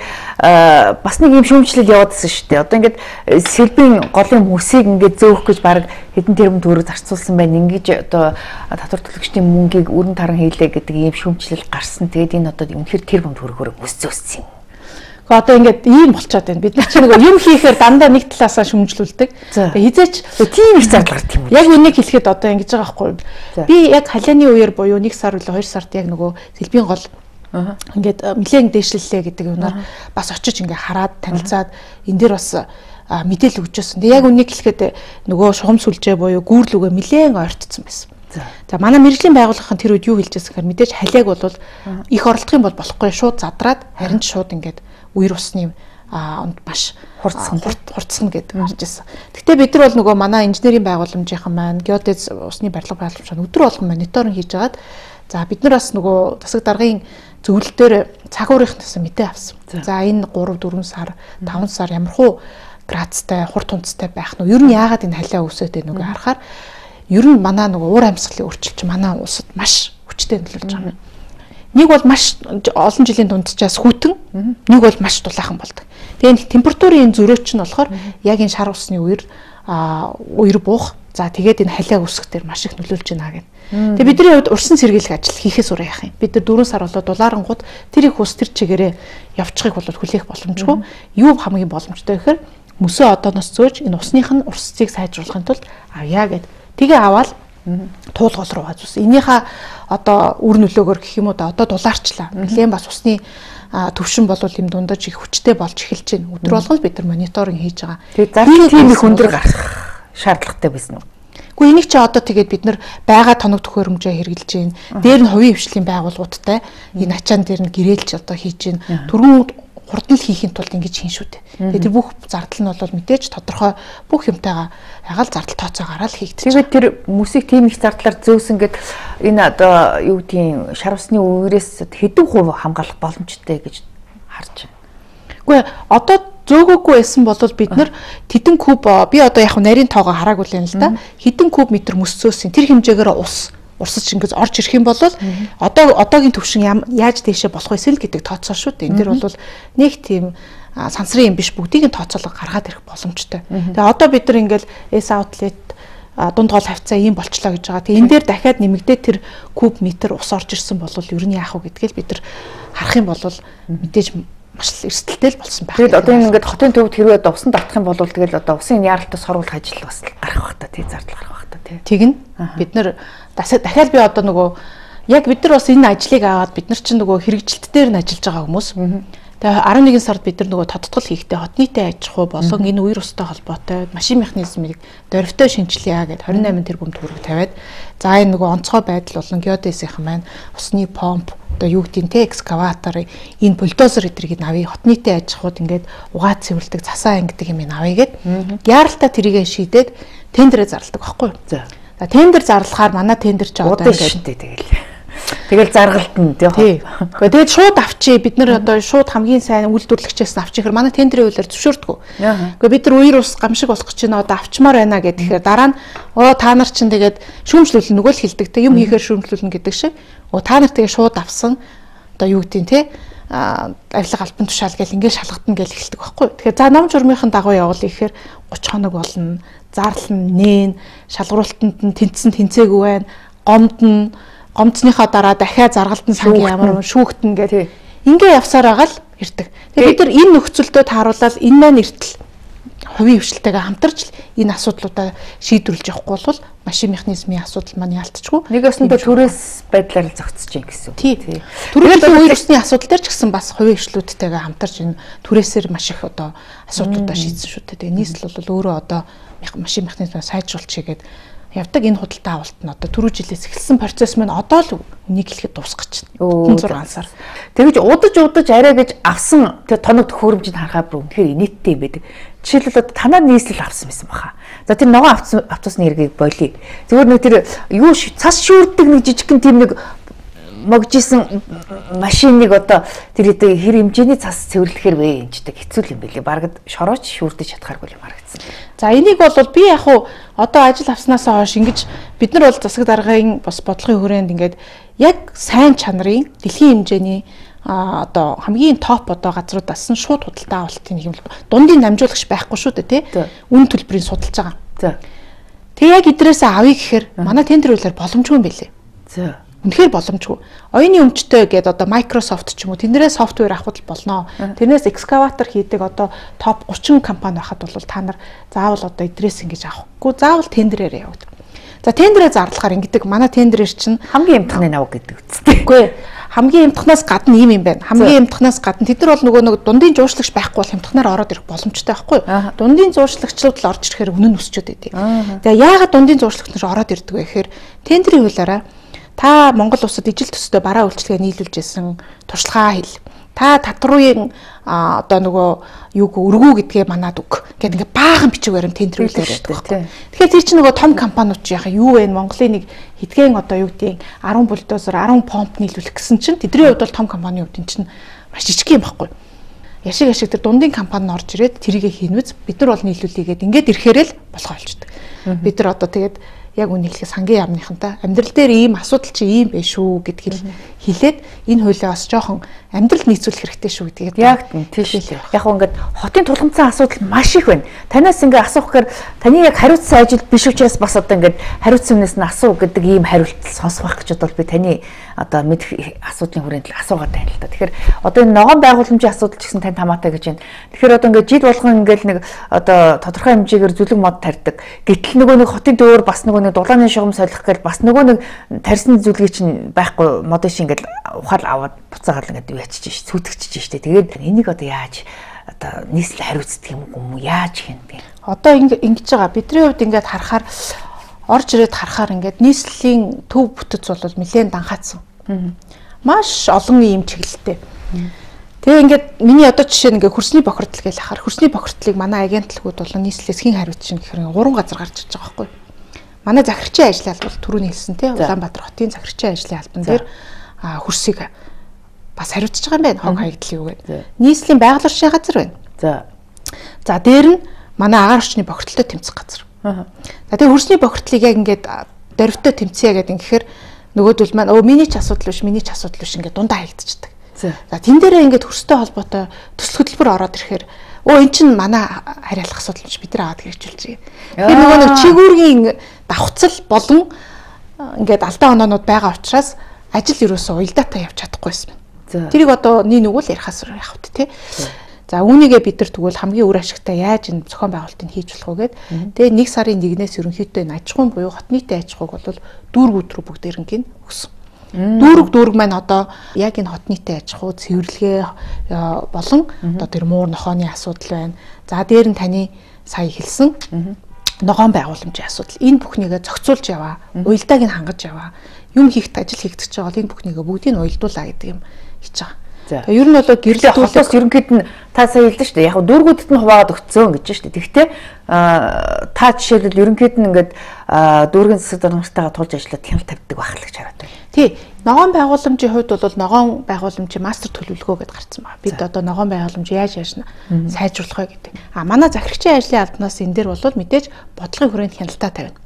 бас нэг юм шүүмжлэл яваадсэн шүү дээ. Одоо ингээд сэлбийн голын мөсийг ингээд зөөх гэж баг хэдэн тэрбум төгрөг зарцуулсан байна. Ингээд одоо татвар төлөгчдийн мөнгийг өрн таран хийлээ гэдэг ийм шүүмжлэл гарсан. Тэгээд энэ одоо үнэхээр тэрбум төгрөгөөр мөс зөөссөн юм. Одоо ингээд ийм болчиход байна. Бид нар ч нэг юм хийхээр дандаа нэг талаасаа шүмжлүүлдэг. Хизээч тийм их зардал гарт юм. Яг үнийг хэлэхэд одоо ингэж байгаа байхгүй. Би яг халианы үеэр буюу 1 сар үлээ 2 сард яг нөгөө сэлбийн гол ингээд нэлээд дээшлэлээ гэдэг юмнаар бас очиж ингээд хараад танилцаад энэ дээр бас мэдээлэл өгч өссөн. Яг үнийг хэлэхэд нөгөө шугам сүлжээ буюу гүүрлүгээ нэлээд ойртсон байсан. За манай мэрэгжлийн байгууллагын тэр үед юу хэлж байсан гэхээр мэдээж халиаг бол их орлох юм бол болохгүй шууд задраад харин ч шууд ингээд үер усны маш хурцсан гэдэг гарч ирсэн. Гэхдээ бид нар бол нөгөө манай инженерийн байгууламжийнхан маань геодез усны барилга байгууламж өдөр болгон мониторинг хийж агаад за бид нар бас нөгөө засаг даргын зөвлөлтөөр цаг уурынхнаас мэдээ авсан. За энэ 3 4 сар 5 сар ямархуу градустай хурд тунцтай байх нь ер нь яагаад энэ халиа өсөд байноуг харахаар ер нь манай нөгөө уур амьсгалын өөрчлөлт манай улсад маш хүчтэй нөлөөлж байгаа юм. Нэг бол маш олон жилийн дунджаас хүйтэн, нэг бол маш дулаахан болдог. Тэгээд температурын зөрөөч нь болохоор яг энэ шар усны үер буух. За тэгээд энэ халиа үсэх дээр маш их нөлөөлж байна гэх. Тэгээд бидний хувьд урьсан сэргийлэх ажил хийхээс ураа яах юм. Бид нар 4 сар болоод дулаарангууд тэр их ус тэр чигээрээ явчихыг бол хүлээх боломжгүй. Юу хамгийн боломжтой гэхээр мөсөө одооноос зөөж энэ усных нь урсцыг сайжруулахын тулд авъя гэд. Тэгээ аваад туулгал руу хазуулсан. Энийхээ одоо үр нөлөөгөөр гэх юм уу да одоо дулаарчлаа. Нэлээд бас усны төвшин бол юм дундаж их хүчтэй болж эхэлж байна. Өдөр болгон бид нар мониторинг хийж байгаа. Тэгээд зарим тийм их өндөр гарах шаардлагатай байсан уу? Гэхдээ энийг чи одоо тэгээд бид нар байгаа тоног төхөөрөмжөө хэрэгжилж байна. Дээр нь хувийн хвшлийн байгууллагуудтай энэ ачаан дээр нь гэрээлж одоо хийж байна. Түрүүн хурдан хийхин тулд ингэж хийн шүү дээ. Тэгээд тэр бүх зардал нь бол мэдээж тодорхой бүх юмтайгаа ягаал зардал тооцоо гараад хийгдэж. Тэгээд тэр мөсийг тийм их зардлаар зөөсөн гэд энэ одоо юу гэдгийг шар усны үерээс хэдэн хувь хамгаалах боломжтой гэж харж байна. Үгүй одоо зөөгөөгүй байсан бол бид нар хэдэн куб би одоо яг нарийн тоогоо хараагүй л юм л да. Хэдэн куб метр мөс зөөсөн тэр хэмжээгээр урсаж ингэж орж ирэх юм бол одоогийн төвшин яаж тийшээ болох вэ гэдэг тооцоо шүү дээ. Энэ дэр бол нэг тийм сансрын юм биш бүгдийг нь тооцоолго гаргаад ирэх боломжтой. Тэгээ одоо бид нар ингээл S outlet дунд гол хавцаа ийм болчлоо гэж байгаа. Тэгээ энэ дээр дахиад нэмэгдээ тэр куб метр ус орж ирсэн бол ер нь яах вэ гэдгээл бид нар харах юм бол мэдээж маш эрсдэлтэй л болсон байх. Тэгээд одоо ингээд хотын төвд хэрвээ одоо усан давтах юм бол тэгэл одоо усын яаралтай соргуулах ажил бас гарах бах та тий зардал гарах бах та тий. Тэгнь бид нар дахиад би одоо нөгөө яг бид нар бас энэ ажлыг аваад бид нар чинь нөгөө хэрэгжилт дээр нь ажиллаж байгаа хүмүүс. Тэгээ 11 сард бид нар нөгөө тодтгол хийхдээ хот нийтийн аж ахуй болон энэ үер устай холбоотой машин механизмыг дөрвтэй шинжилье гэд 28 тэрбум төгрөг тавиад за энэ нөгөө онцгой байдал болон геодезийнх маань усны помп одоо юу гэдгийг те экскаватор энэ бульдозер эдрийг авъя хот нийтийн аж ахуйд ингээд угаа цэвэрлдэг засаа ангидаг юм авъя гэд яаралтай тэрийгэ шийдээд тендерээ зарладаг байхгүй юу. За тендер зарлахаар манай тендер ч одоо ингээд тэгэл заргалтна тий. Тэгээд шууд авчи бид нар одоо шууд хамгийн сайн үйлдвэрлэгчээс авчих хэрэг манай тендерийн хуулиар зөвшөөрдөг. Гэхдээ бид нар үер ус гамшиг болох гэж байна одоо авчмаар байна гэхээр дараа нь та нар чинь тэгээд шүүмжлүүлнэ нөгөө л хэлдэг те юм хийхээр шүүмжлүүлнэ гэдэг шиг та нар тэгээд шууд авсан одоо юу гэдгийг те авилга албан тушаал гэл ингээд шалгатна гэж хэлдэг байхгүй. Тэгэхээр за ном журмынхын дагуу явуул ихээр 30 хоног болно. Зарлал нь нээн, шалгуултанд нь тэнцсэн тэнцээгүй байна. Гомцныхаа дараа дахиад заргалтын сангийн ямар шүүхтэн гэдэг. Ингээ явсаар байгаа л ирдэг. Тэгээд бид нар энэ нөхцөлдөө тааруулаад энэ маань эртэл хувийн хвшилтэйгээ хамтарч энэ асуудлуудаа шийдвэрлэж явахгүй бол машин механизмын асуудал маань ялтчгүй. Нэг өсөндөө төрөөс байдлаар зогцож чинь гэсэн. Тий. Төрөөс үеийн усны асуудал дээр ч гэсэн бас хувийн хвшлүүдтэйгээ хамтарч энэ түрээсээр маш их одоо асуудлуудаа шийдсэн шүү дээ. Тэгээ нийслэл бол өөрөө одоо машин механизмаа сайжруулж хийгээд явдаг. Энэ худалдаа авалт нь одоо түрүү жилээс эхэлсэн процесс маань одоо л үнийг хэлэхэд дуусгаж байна. 6 сар. Тэгэж удаж арай гэж авсан тоног төхөөрөмжийг харахаар бүр үнэхээр инээдтэй юм байдаг. Жишээлбэл одоо танаа нийслэл авсан байсан баха. За тэр ногоон автобусны эргийг болий. Зүгээр нэг тэр юу цас шүүрдэг нэг жижигхэн тийм нэг могжсэн машиныг одоо тэр хэр хэмжээний цас цэвэрлэхээр вэ юмчдаг хэцүү юм билий. Бараг шорооч шүүрдэж чадхааргүй юм харагдсан. За энийг бол би яг уу одоо ажил авснаасаа хойш ингэж бид нар бол засаг даргын бас бодлогын хүрээнд ингээд яг сайн чанарын дэлхийн хэмжээний одоо хамгийн топ одоо газруудаас нь шууд худалдаа авалтын нэг юм дундын намжуулагч байхгүй шүү дээ тий. Үн төлбөрийг судалж байгаа. За. Тэг яг эдрээсээ авъя гэхээр манай тендер үйлээр боломжгүй юм билээ. За. Үнэхээр боломжгүй. Оюуны өмчтэй гэдэг одоо Microsoft ч юм уу тэндээс софтвер авах болно. Тэрнээс экскаватор хийдэг одоо топ 30 компани байхад бол та нар заавал одоо эдрээс ингэж авахгүй заавал тендерээр яваад. За тендерээ зарлахаар ингэдэг манай тендерээр чинь хамгийн эмтхны наваг гэдэг үстэй. Үгүй хамгийн эмтхнаас гадна юм байна. Хамгийн эмтхнаас гадна тэд нар бол нөгөө нэг дундын жууршлагч байхгүй бол эмтхнаар ороод ирэх боломжтой байхгүй. Дундын жууршлагчлууд л орж ирэхээр үнэн өсчөөд байдیں۔ За яагаад дундын жууршлагч нар ороод ирдэг вэ гэхээр тендерийн хуулиараа та Монгол улсад ижил төстэй бараа үйлчлэгээ нийлүүлж исэн туршлагаа хэл. Та татварын одоо нөгөө юуг өргөө гэдгээ манад үг гэдэг ингээ баахан бичиг баримт тендер үйлээр байдаг байхгүй. Тэгэхээр тэр чинь нөгөө том компаниуд чи яхаа юу вэ? Монголын нэг хэдхэн одоо юу гэдгийг 10 бульдозер 10 помп нийлүүлэх гэсэн чинь тэдний хувьд бол том компанийн хувьд энэ чинь маш жижиг юм байхгүй. Яшиг тэр дундын компани орж ирээд тэрийгэ хийнвэз бид нар бол нийлүүлээгээд ингээд ирэхээр л болохоо болчдөг. Бид нар одоо тэгээд яг үнийг хэлэх сангийн яамныхантай амьдрал дээр ийм асуудал чи ийм байх шүү гэдгийг хэлээд энэ хуулиа бас жоохон амьдрал нийцүүлэх хэрэгтэй шүү гэдгийг яг тийш л яг ингээд хотын тулгымцсан асуудал маш их байна. Танаас ингээд асуух гэхээр таны яг хариуцсан ажил биш учраас бас одоо ингээд хариуцсан хүнээс нь асуу гэдэг ийм хариулт сонсох гэж бодвол би таны одоо мэдэх асуудлын хүрээнд л асуугаад байна л да. Тэгэхээр одоо энэ ногоон байгууламжийн асуудал ч гэсэн тань хамаатай гэж байна. Тэгэхээр одоо ингээд жил болгон ингээд нэг одоо тодорхой хэмжээгээр зүлэг мод тарьдаг. Гэтэл нөгөө нэг хотын дөөр бас нөгөө дулааны шугам солих гээл бас нөгөө нэг тарьсан зүйлийг чинь байхгүй модын шиг ингээд ухаал аваад буцаагаад ингээд юу ячиж ш сүтгэж штэ. Тэгээд энийг одоо яаж одоо нийслэл хариуцдаг юм уу яаж хийнэ. Одоо ингэж байгаа бидний хувьд ингээд харахаар орж ирээд харахаар ингээд нийслэлийн төв бүтэц бол нэлээд данхаацсан. Маш олон ийм чиглэлтэй. Тэгээ ингээд миний одоо жишээ нь ингээд хөрсний бохирдол гэж ахаар хөрсний бохирдлыг манай агентлагууд болон нийслэлээс хэн хариуцсан гэхээр 3 газар гарч иж байгаа байхгүй. Манай захирагчийн ажлын албан түрүүний хэлсэн тийм Улаанбаатар хотын захирагчийн ажлын албан дээр хөрсийг бас хариуцж байгаа юм байна. Хог хаягдлын юу гэдэг. Нийслэлийн байгаль орчны газар байна. За дээр нь манай агаар орчны бохирдолтой тэмцэх газар. За тэгээ хөрсний бохирдлыг яг ингээд дөрвтөө тэмцэе гэдэг ингэхээр нөгөөдөл маань миний ч асуудал биш ингээд дундаа хаягдчихдаг. За тэн дээрээ ингээд хөрстэй холбоотой төсөл хөтөлбөр ороод ирэхээр эн чинь манай хариалах асуудал биш бид нар аваад хэрэгжүүлж байгаа. Тэгэхээр нөгөө нэг чигүүргийн давхцал болон ингээд алдаа оноонууд байгаа учраас ажил ерөөсөө уялдаатай явж чадахгүйсэн. Тэрийг одоо нэг үл ярихаас явах тий. За үүнийгээ бид нар тэгвэл хамгийн үр ашигтай яаж энэ зохион байгуулалтыг хийж болох вэ гэд. Тэгээ 1 сарын 1-ээс ерөнхийдөө энэ аж ахуйн буюу хот нийтийн аж ахуйг бол дүүргүүд рүү бүгдээрнг нь өгсөн. Дүүрэг маань одоо яг энэ хот нийтийн аж ахуй цэвэрлэгээ болон одоо тэр муур нохооны асуудал байна. За дээр нь таны сая хэлсэн ногоон байгууламжийн асуудал. Энэ бүхнийгээ зохицуулж яваа, уялдааг нь хангаж яваа. Юм хийхэд ажил хийгдэж байгаа бол энэ бүхнийгээ бүгдийг нь уялдуулаа гэдэг юм хийж байгаа. Тэгээ ер нь бол гэрлэлтээс ерөнхийд нь та сая хэлдэн шүү дээ. Яг дүүргүүдэд нь хуваагаад өгцөн гэж шүү дээ. Тэгэхдээ та жишээлбэл ерөнхийд нь ингээд дүүргийн засаг даргамжтайгаа тулж ажиллаад хяналт тавьдаг байх л гэж хараад байна. Тий. Ногоон байгууламжийн хувьд бол ногоон байгууламжийн мастер төлөвлөгөө гэдээ гарсан байна. Бид одоо ногоон байгууламж яаж сайжруулах вэ гэдэг. Манай захирагчийн ажлын албанаас энэ дээр бол мэдээж бодлогын хүрээнд хяналтаа тавина.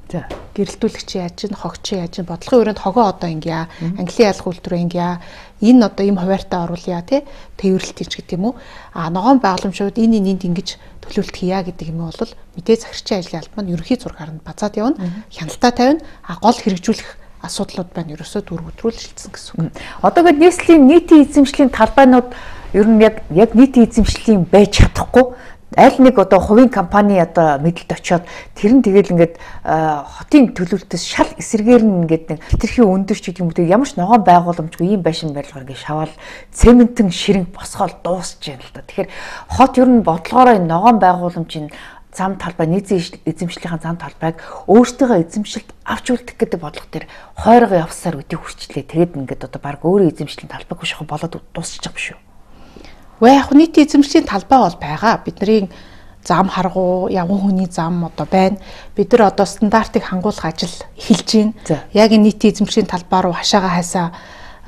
Гэрэлтүүлэгч яаж чинь, хогч яаж чинь бодлогын хүрээнд хогоо одоо ингэя, англи ялах үйлдвэр ингэя, энэ одоо ийм хуваарьтаа оруулъя тий, тээвэрлэлт хийж гэдэг юм уу. Ногоон байгууламжууд энд ингэж төлөвлөлт хийя гэдэг юм бол мэдээж захирагчийн ажлын албан нь ерөнхий зургаар нь базаад явна, хяналтаа тавина, гол хэрэгжүүлэх асуудлууд байна ерөөсөө дүүргүүд рүү л шилжсэн гэсэн үг. Одоо гээд нийслэлийн нийтийн эзэмшлийн талбайнууд ер нь яг нийтийн эзэмшлийн байж чадахгүй аль нэг одоо хувийн компани одоо мэдлэлд очиод тэр нь тэгэл ингээд хотын төлөвлөлтөөс шал эсэргээр нь ингээд нэг хэтэрхий өндөр ч гэдэг юм уу ямар ч ногоон байгууламжгүй ийм байшин барилгаар ингээд шаваал цементэн ширэнг босгоол дуусч байна л да. Тэгэхээр хот ер нь бодлогоороо энэ ногоон байгууламжийн зам талбай нийтийн эзэмшлийнхаа зам талбайг өөртөөгөө эзэмшилд авч үлдэх гэдэг бодлого төр хойроо явсаар өдөө хүрчлээ. Тэгээд ингээд одоо баг өөрөө эзэмшлийн талбайг шахах болоод дуусчих юм шүү. Яг нийтийн эзэмшлийн талбай бол байгаа. Бидний зам харгуу, явган хүний зам одоо байна. Бид нар одоо стандартыг хангуулах ажил эхэлж байна. Яг энэ нийтийн эзэмшлийн талбай руу хашаага хайсаа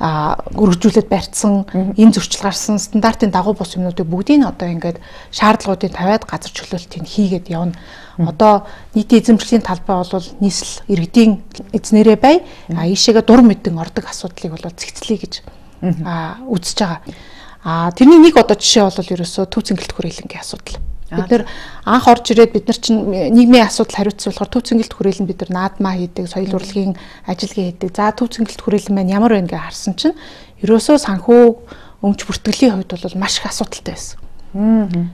өргөжүүлээд барьсан, энэ зөрчил гарсан стандартын дагуу бус юмнуудыг бүгдийг нь одоо ингээд шаардлагуудыг тавиад газар чөлөөлтийг хийгээд явна. Одоо нийтийн эзэмшлийн талбай бол нийслэл иргэдийн эзнэрээ бай, ийшээгээ дур мэдэн ордог асуудлыг бол зэгцлэе гэж үзэж байгаа. Тэрний нэг одоо жишээ бол ерөөсөө төв цэнгэлт хүрээлэнгийн асуудал. Бид нэр анх орж ирээд бид нар чинь нийгмийн асуудал хариуцсан болохоор төв цэнгэлт хүрээлэн бид нар наадмаа хийдэг, соёл урлагийн ажиллагаа хийдэг. За төв цэнгэлт хүрээлэн маань ямар байна гэж харсан чинь ерөөсөө санхүү өмч бүртгэлийн хувьд бол маш их асуудалтай байсан.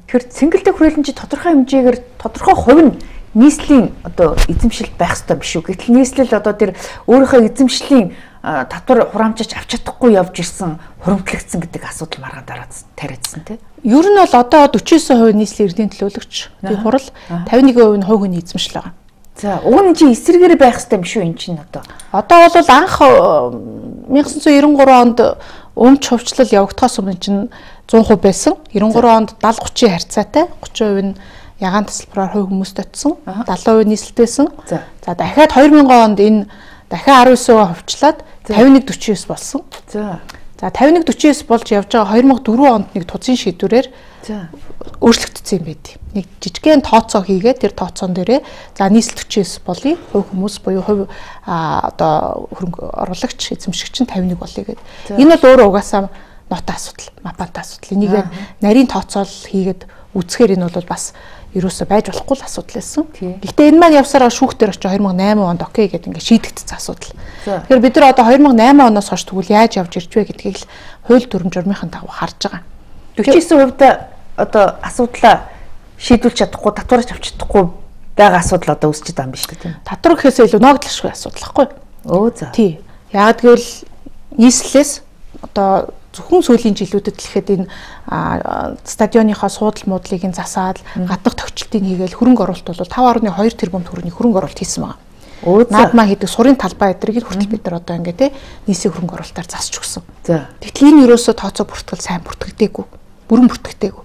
Тэгэхээр цэнгэлт хүрээлэн чи тодорхой хэмжээгээр тодорхой хувь нь нийслэлийн одоо эзэмшилд байх ёстой биш үү? Гэтэл нийслэл одоо тэр өөрийнхөө эзэмшлийн татвар хураамжаач авч чадахгүй явж ирсэн хуримтлагдсан гэдэг асуудал маргаан тариадсан тийм. Ер нь бол одоо 49% нийслэлийн эрдэнэ төлөөлөгч тийм хурал 51% нь хувь хүний эзэмшил байгаа. За уг нь чи эсрэгээр байх хэрэгтэй юм шүү эн чинь одоо. Одоо бол анх 1993 онд өмч хувьчлал явагдахаас өмнө чинь 100% байсан. 93 онд 70-30 харьцаатай 30% нь ягаан тасалбараар хувь хүмүүст очсон. 70% нийслэлтэйсэн. За дахиад 2000 онд энэ дахиад 19% хувьчлаад 51-49 болсон. За 51-49 болж явж байгаа 2004 онд нэг тузын шийдвэрээр өөрчлөгдсөн юм байд. Нэг жижигхэн тооцоо хийгээд тэр тооцоон дээрээ за нийслэл 49 болъё. Хувь хүмүүс буюу хувь одоо хөрөнгө оруулагч эзэмшигч нь 51 болъё гэдэг. Энэ бол өөрөө угаасаа нотой асуудал, мапантай асуудал. Энийг нарийн тооцоол хийгээд үзэхээр энэ бол бас ерөөсөө байж болохгүй л асуудал байсан. Гэхдээ энэ маань явсараа шүүхтэр очиж 2008 онд окей гэдэг ингээд шийдэгдсэн асуудал. Тэгэхээр бид нар одоо 2008 оноос хойш тэгвэл яаж явж ирж вэ гэдгийг л хууль дүрм журмынхаа дагуу харж байгаа. 49% одоо асуудлаа шийдүүлж чадахгүй, татварч авч чадахгүй байгаа асуудал одоо үүсэж байгаа юм биш үү тийм. Татвар гэхээсээ илүү ногдлошгүй асуудал байхгүй. За. Тий. Яг гэвэл нийслэлээс одоо зөвхөн сүүлийн жилүүдэд л ихэд энэ стадионынхаа суудал муудлыг нь засаад гаднах тохичлтыг хийгээл хөрөнгө оруулалт бол 5.2 тэрбум төгрөгийн хөрөнгө оруулалт хийсэн байна. Наадмаа хийдэг сурын талбай эдрийг хүртэл бид нар одоо ингээд нийсийн хөрөнгө оруулалтаар засч өгсөн. Тэгтэл энэ ерөөсөө тооцоо бүртгэл сайн бүртгэдэггүй. Бүрэн бүртгэдэггүй.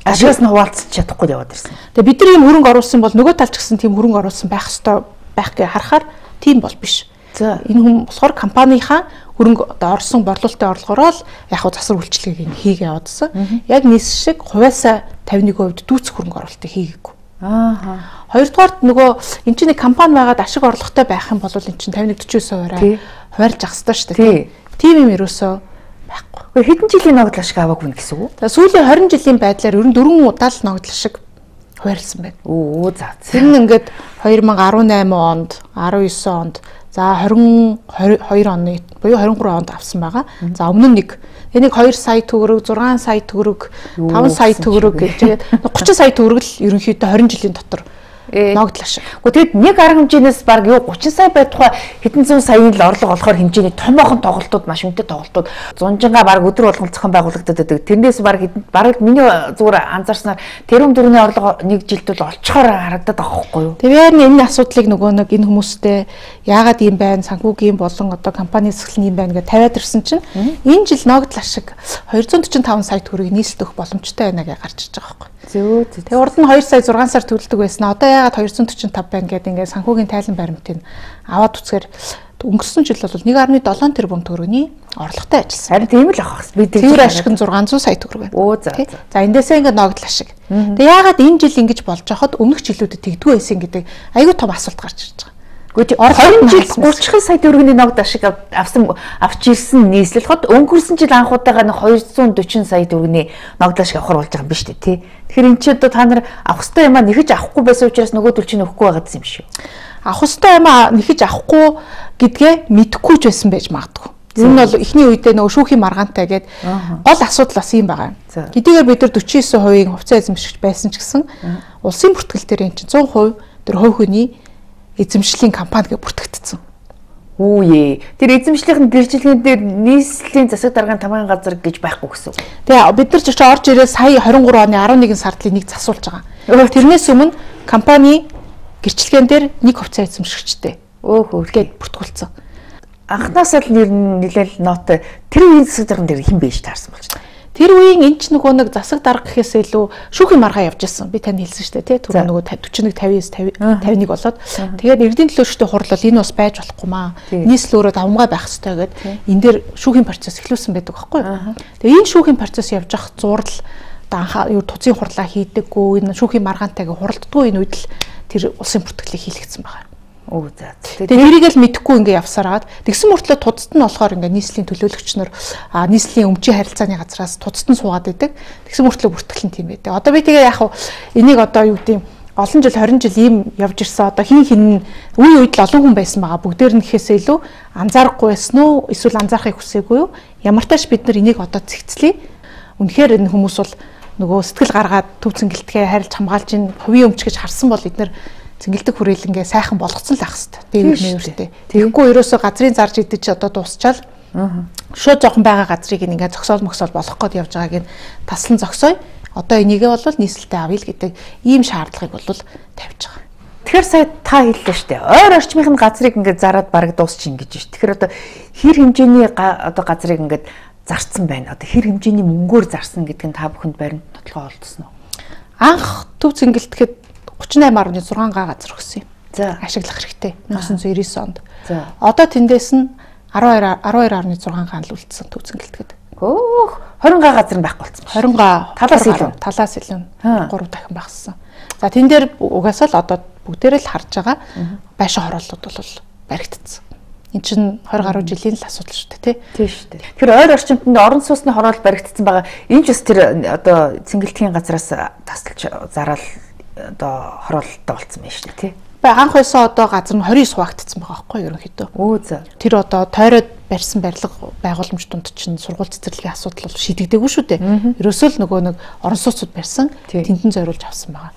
Ашигаас нь хуваалцах чадахгүй яваад ирсэн. Тэгээ бид нар ийм хөрөнгө оруулсан бол нөгөө талч гэсэн тийм хөрөнгө оруулсан байх ёстой байх гэж харахаар тийм бол биш. За энэ хүн болохоор компанийнхаа хөрөнгө одоо орсон борлуулалтын орлогоороо л яг хуу засвар үйлчлэгийг хийгээ явуулсан. Яг нийс шиг хувьяасаа 51% дүүцэх хөрөнгө оруулалтыг хийгээгүй. Хоёрдугаарт нөгөө эн чинь нэг компани байгаад ашиг орлоготой байх юм бол эн чинь 51-49%-аар хуваарлж ах хэрэгтэй шүү дээ. Тийм юм ерөөсөө байхгүй. Хэдэн жилийн ногдол ашиг аваагүй нь гэсэн үг? За сүүлийн 20 жилийн байдлаар ер нь 4 удаа л ногдол ашиг хуваарлсан байна. За. Тэр нь ингээд 2018 онд, 19 онд, за 22 оны буюу 23 онд авсан байгаа. За өмнө нь нэг 2 сая төгрөг, 6 сая төгрөг, 5 сая төгрөг гэж 30 сая төгрөг л ерөнхийдөө 20 жилийн дотор ногдол ашиг. Тэгэд нэг арга хэмжээнээс баг юу 30 сая бай тухай хэдэн зуун саяын л орлого олохоор хэмжээний томоохон тоглолтууд, маш үнэтэй тоглолтууд зунжингаа баг өдөр болгон зохион байгуулагдаад байдаг. Тэрнээс баг миний зүгээр анзаарснаар тэрүүн дөрөвний орлого нэг жилд бол олцохоор харагдаад байгаа байхгүй юу? Тэгээд энэ асуудлыг нөгөө нэг энэ хүмүүстэй яагаад ийм байна, санхүүгийн болон одоо компани засаглал юм байна гэж тавиад ирсэн чинь энэ жил ногдол ашиг 245 сая төгрөгийг нийслэлд өгөх боломжтой байна гэж гарч иж байгаа байхгүй юу? Тэгээ урд нь 2 сая 6 сар төлдөг байсан. Одоо яагаад 245 байна гэдэг ингээд санхүүгийн тайлан баримтыг аваад үцхээр өнгөрсөн жил бол 1.7 тэрбум төгрөгийн орлоготой ажилласан. Харин тийм л авах хэвээр. Тэр ашиг нь 600 сая төгрөг байна. За эндээсээ ингээд ногдол ашиг. Тэгээ яагаад энэ жил ингэж болж байхад өмнөх жилүүдэд тэгдгүй байсан гэдэг аюул том асуулт гарч ирж байгаа. Гэхдээ 20 жил 30 сая төгрөгийн ногдол ашиг авч ирсэн нийслэл хот өнгөрсөн жил анхудаага 240 сая төгрөгийн ногдол ашиг авахар болж байгаа юм биш үү тий. Тэгэхээр эн чинь одоо та нар авах ёстой юм а нэхэж авахгүй байсан учраас нөгөө төл чинь өгөхгүй байгаа юм шүү. Авах ёстой юм а нэхэж авахгүй гэдгээ мэдэхгүй ч байсан байж магадгүй. Ер нь бол эхний үедээ нөгөө шүүхийн маргаантай гээд гол асуудал бас юм байгаа. Хэдийгээр бид нар 49% хувьцаа эзэмшигч байсан ч гэсэн улсын бүртгэл дээр энэ чинь 100% тэр хувь хүний эзэмшлийн компани гэж бүртгэгдсэн. Үүе. Тэр эзэмшлийн гэрчлэгэн дээр нийслэлийн засаг даргын тамгын газар гэж байхгүй гэсэн. Тэгээ бид нар ч орж ирээ сая 23 оны 11 сард нэг засуулж байгаа. Тэрнээс өмнө компани гэрчлэгэн дээр нэг хувьцаа эзэмшигчтэй. Гээд бүртгүүлсэн. Анхнаасаа л нэлээл нотой тэр үеийн засаг дарган дээр хэн байж таарсан болж байна. Тэр үеийн энэ ч нөгөө нэг засаг дарга гэхээс илүү шүүхийн маргаа явж ирсэн. Би танд хэлсэн шүү дээ, тий. Түрүү нөгөө 41 50 51 болоод тэгээд эрдийн төлөөлөгчдийн хурлал энэ бас байж болохгүй маа. Нийслэл өөрөө давмгай байх хэрэгтэй гэд энэ дээр шүүхийн процесс эхлүүлсэн байдаг байхгүй юу? Тэгээд энэ шүүхийн процесс явж ах зурал анхаа юу туцын хурлаа хийдэггүй, энэ шүүхийн маргаантайгаа хуралддаггүй энэ үед л тэр улсын бүртгэлийг хийлгэсэн байгаа. Тэгээд тэрийг л мэдэхгүй ингээ явсараад тэгсэн мөртлөө тудад нь болохоор ингээ нийслэлийн төлөөлөгч нар нийслэлийн өмчийн харилцааны газраас тудад нь суугаад байдаг. Тэгсэн мөртлөө бүртгэл нь тийм байдаг. Одоо би тэгээ яг энийг одоо юу гэдэг олон жил 20 жил ийм явж ирсэн. Одоо хин үе үед л олон хүн байсан байгаа. Бүгдээр нь гэхээсээ илүү анзаарахгүй байсан уу? Эсвэл анзаарахыг хүсээгүй юу? Ямар тааш бид нар энийг одоо цэгцлэе. Үнэхээр энэ хүмүүс бол нөгөө сэтгэл гаргаад төв цэнгэлтгээ харилж хамгаалж ин хувийн өмч гэж харсан бол эдгээр цэнгэлдэг хүрээлэнгээ сайхан болгоцсон л ах хэвээр нэртэй. Тэгэхгүй ерөөсөө газрын зарж идэж одоо дуусчаал. Шууд жоохон байгаа газрыг ингээ зогсоол болох гээд явж байгааг нь таслан зогсоё. Одоо энийгээ бол нийслэлтэй авъя л гэдэг ийм шаардлагыг бол тавьж байгаа. Тэгэхээр сая та хэллээ шүү дээ. Ойр орчмын газрыг ингээ зараад бараг дуусчих ингэж шүү. Тэгэхээр одоо хэр хэмжээний одоо газрыг ингээ зарцсан байна. Одоо хэр хэмжээний мөнгөөр зарсан гэдг нь та бүхэнд баримт нотлогоо олдсон уу? Анх төв цэнгэлтэхэд 38.6 га газар өгсөн юм. За ашиглах хэрэгтэй 1999 онд. За одоо тэндээс нь 12.6 га л үлдсэн төв цэнгэлтэхэд. 20 га газар нь байхгүй болсон. 20 га талаас илүү 3 дахин багассан. За тэн дээр угаасаа л одоо бүгдээрээ л харж байгаа байшин хорооллууд бол баригдсан. Энд чинь 20 гаруй жилийн л асуудал шүү дээ, тий шүү дээ. Тэгэхээр ойр орчимд орон сууцны хороол баригдсан байгаа. Энэ ч бас тэр одоо цэнгэлтгийн газраас тасалж зараал одоо хороолттой болсон байна шүү дээ, тий. Анх байсан одоо газар нь 29 хуваагдсан байгаа байхгүй ерөнхийдөө. За. Тэр одоо тойроод барьсан барилга байгууламж донд чинь сургууль цэцэрлэгийн асуудал бол шийдэгдээгүй шүү дээ. Ерөөсөө л нөгөө нэг орон сууцуд барьсан тэндэн зориулж авсан байгаа.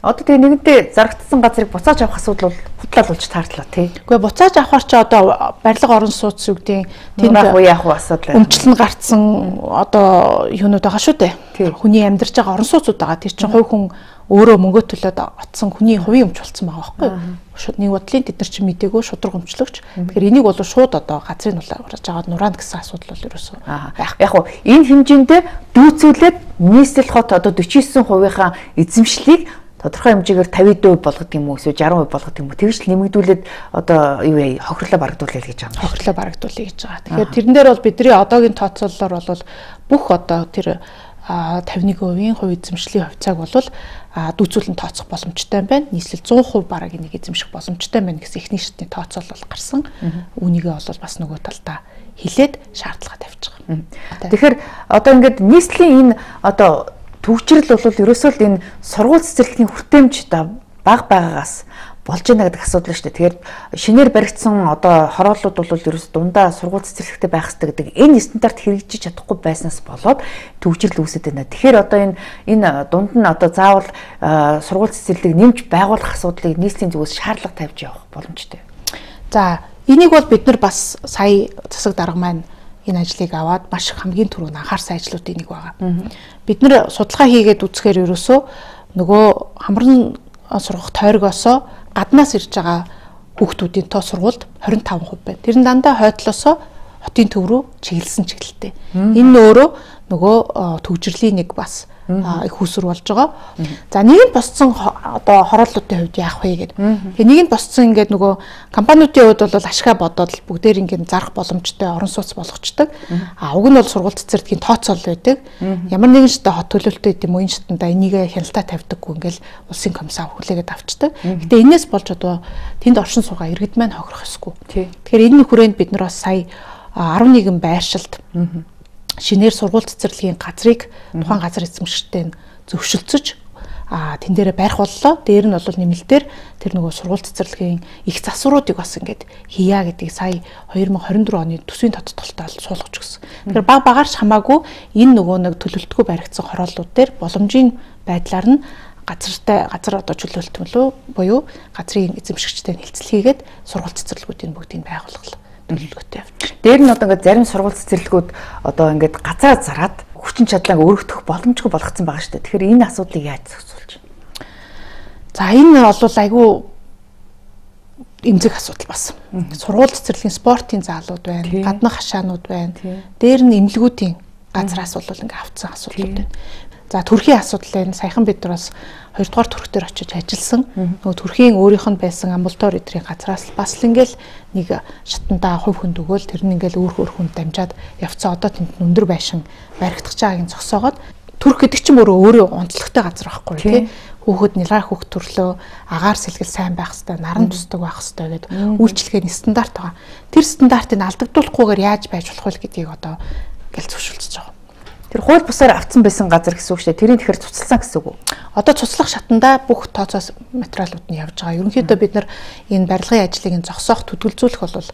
Одоо тэгээ нэгэнтээ зарагдсан газрыг буцааж авах асуудал бол худлаалуулж таардлаа тий. Үгүй буцааж авахар чи одоо барилга орон сууц үгдийн тэнд яах вэ асуудал. Өмчлөн гарцсан одоо юунууд байгаа шүү дээ. Хүний амьдарч байгаа орон сууцуд байгаа. Тэр чинь хувь хүн өөрөө мөнгө төлөөд отсон хүний хувийн өмч болсон байгаа байхгүй. Нэг бодлын тэд нар чинь мдэггүй шудраг өмчлөгч. Тэгэхээр энийг бол шууд одоо газрын нулаарж аваад нураана гэсэн асуудал бол ерөөсөө байх. Яг уу энэ хэмжээндээ дүүцүүлээд нийслэл хот одоо 49%-ийнхаа эзэмшлийг тодорхой хэмжээгээр 50% болгох юм уу эсвэл 60% болгох юм уу тэгж л нэмэгдүүлээд одоо юу яа хохирлоо барагдуулъя гэж байгаа юм. Хохирлоо барагдуулъя гэж байгаа. Тэгэхээр тэрэн дээр бол бидний одоогийн тооцоололоор бол бүх одоо тэр 51% хувь эзэмшлийн хувьцааг бол дүүцүүлэн тооцох боломжтой байна. Нийслэл 100% бараг энийг эзэмших боломжтой байна гэсэн эхний шатны тооцоолол гарсан. Үүнийгээ бол бас нөгөө талдаа хилээд шаардлага тавьж байгаа. Тэгэхээр одоо ингээд нийслэлийн энэ одоо төвчрэл бол ерөөсөө л энэ сургууль цэцэрлэгийн хүртээмж бага байгаагаас болж байна гэдэг асуудал шүү дээ. Тэгэхээр шинээр баригдсан одоо хорооллууд бол ерөөс дундаа сургууль цэцэрлэгтэй байх хэрэгтэй гэдэг энэ стандарт хэрэгжиж чадахгүй байснаас болоод төвчрэл үүсэж байна. Тэгэхээр одоо энэ дунд нь одоо заавал сургууль цэцэрлэгийг нэмж байгуулах асуудлыг нийслэлийн зүгээс шаардлага тавьж явах боломжтой. За энийг бол бид нар бас сая засаг дарга маань энэ ажлыг аваад маш хамгийн түрүүнд анхаарсан ажлуудын нэг байгаа. Бид нэр судалгаа хийгээд үзэхээр ерөөсөө нөгөө хамран сургах тойргоосоо гаднаас ирж байгаа хүүхдүүдийн тоо сургуульд 25% байна. Тэр нь дандаа хойтлосоо хотын төв рүү чиглэсэн чиглэлтэй. Энэ нь өөрөө нөгөө төвжирлийн нэг бас их хүсэр болж байгаа. За нэг нь босцсон одоо хорооллуудын хувьд яах вэ гэдэг. Тэгээ нэг нь босцсон ингээд нөгөө компаниудын хувьд бол ашгаа бодоод бүгдээр ингээд зарах боломжтой орон сууц болгочдөг. Уг нь бол сургууль цэцэрлэгийн тооцоол байдаг. Ямар нэгэн шатаа хот төлөвлөлтөд юм уу энэ шатанда энийг хяналтаа тавьдаггүй ингээд улсын комиссаа хүлээгээд авчдаг. Гэтэ энэс болж одоо тэнд оршин суугаа иргэд маань хохирох ёсгүй. Тэгэхээр энэ хүрээнд бид нар бас сая 11 байршилд шинээр сургууль цэцэрлэгийн газрыг тухайн газар эзэмшигчтэй зөвшөлдсөж тэн дээрээ барих боллоо. Дээр нь бол нэмэлтээр тэр нөгөө сургууль цэцэрлэгийн их засваруудыг бас ингээд хийя гэдгийг сая 2024 оны төсвийн тодтолтолтой суулгаж өгсөн. Тэгэхээр багаарч хамаагүй энэ нөгөө нэг төлөвлөлтгүй баригдсан хорооллууд дээр боломжийн байдлаар нь газар одоо чөлөөлтмөлөө буюу газрын эзэмшигчтэй нэлцэл хийгээд сургууль цэцэрлэгүүдийн бүгдийг байгуулгал төлөвлөгөөтэй явж. Дээр нь одоо ингээд зарим сургууль цэцэрлэгүүд одоо ингээд газраа зараад хүчин чадлааг өргөдөх боломжгүй болгоцсон байгаа шүү дээ. Тэгэхээр энэ асуудлыг яаж зохицуулж байна? За энэ бол айгүй эмзэг асуудал бас. Сургууль цэцэрлэгийн спортын заалууд байна, гаднах хашаанууд байна. Дээр нь эмнэлгүүдийн газраас бол ингээд авцсан асуудлууд байна. За төрхийн асуудал байна. Саяхан бид нар бас 2 дугаар төрх дээр очиж ажилласан. Нөгөө төрхийн өөрийнх нь байсан амбулаторь эдрийн газраас бас л ингээл нэг шатандаа хувь хүнд өгөөл тэр нь ингээл өөр хүнд дамжаад явцсан. Одоо тэнд өндөр байшин баригдах чагааг зогсоогоод төрх гэдэг чинь өөрөө онцлогтой газар байхгүй тий. Хүүхэд нэлээ хүүхд төрлөө агаар сэлгэл сайн байх хэвээр наран тусдаг байх хэвээр гэдэг үйлчлэгээний стандарт байгаа. Тэр стандартыг алдагдуулахгүйгээр яаж байж болох вэ гэдгийг одоо ингээл зөвшөөрч байгаа. Тэр хууль бусаар авцсан байсан газар гэсэн үг шүү дээ. Тэрийг тэгэхээр цуцлсан гэсэн үг үү? Одоо цуцлах шатандаа бүх тооцоос материалууд нь явж байгаа. Ерөнхийдөө бид нар энэ барилгын ажлыг зогсоох, төдөлзүүлэх бол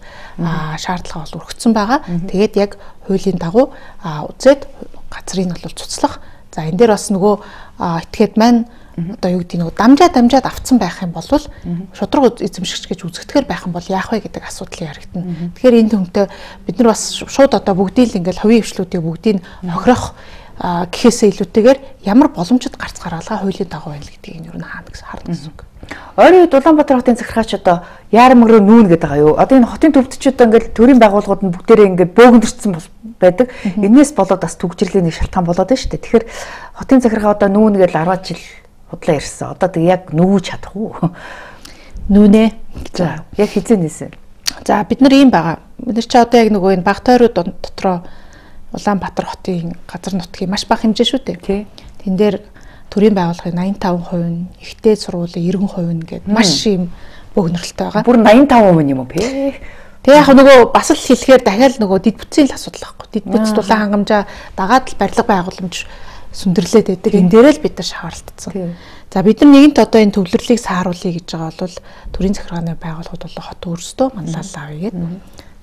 шаардлага бол өргөцсөн байгаа. Тэгээд яг хуулийн дагуу үзээд газрыг нь бол цуцлах. За энэ дээр бас нөгөө этгээд маань одоо юу гэдэг нэг дамжаад авцсан байх юм бол шудраг эзэмшигч гэж үзэгдэхэр байх юм бол яах вэ гэдэг асуудал яригдана. Тэгэхээр энэ төмтөө бид нар бас шууд одоо бүгдийг л ингээл хувийн хвшлүүдийг бүгдийг хохирох гэхээсээ илүүтэйгээр ямар боломжит гарц гаргалгаа хуулийн дагуу байна гэдгийг нь юу хаана гэсэн харна гэсэн үг. Ойрын үед Улаанбаатар хотын захиргаач одоо яармөрөө нүүн гэдэг байгаа юу? Одоо энэ хотын төвчид ингээл төрийн байгууллагууд нь бүгдээрээ ингээд бөөгнөрсөн байдаг. Энээс болоод бас төгжрлийн нэг шалтгаан болоод байна шүү дээ. Тэгэхээр хотын захиргаа одоо нүүн гэж 10 жил худлаа ирсэн. Одоо тэг яг нүүж чадах уу? Нүүнэ. За, яг хизээ нээсэн. За бид нар ийм байгаа. Бид нар чи одоо яг нөгөө энэ Багтойруу дотроо Улаанбаатар хотын газар нутгийн маш бага хэмжээ шүү дээ. Тий. Тэн дээр төрийн байгууллагын 85%, ихтэй сургуулийн 90% гэдэг маш юм бөөгнөрөлтэй байгаа. Бүр 85% юм уу бэ? Тэгээ яг нөгөө бас л хэлэхээр дахиад нөгөө дид бүтцийн л асуудал байхгүй. Дид бүтц дулаан хангамжаа дагаад л барилга байгууламж сүндэрлээд байдаг. Энэ дээрээ л бид нар шаардлагатсан. За бид нар нэгэнт одоо энэ төвлөрлийг сааруулъя гэж байгаа бол төрийн захиргааны байгууллагууд бол хот өөрсдөө манлайлал авъя гэдэг.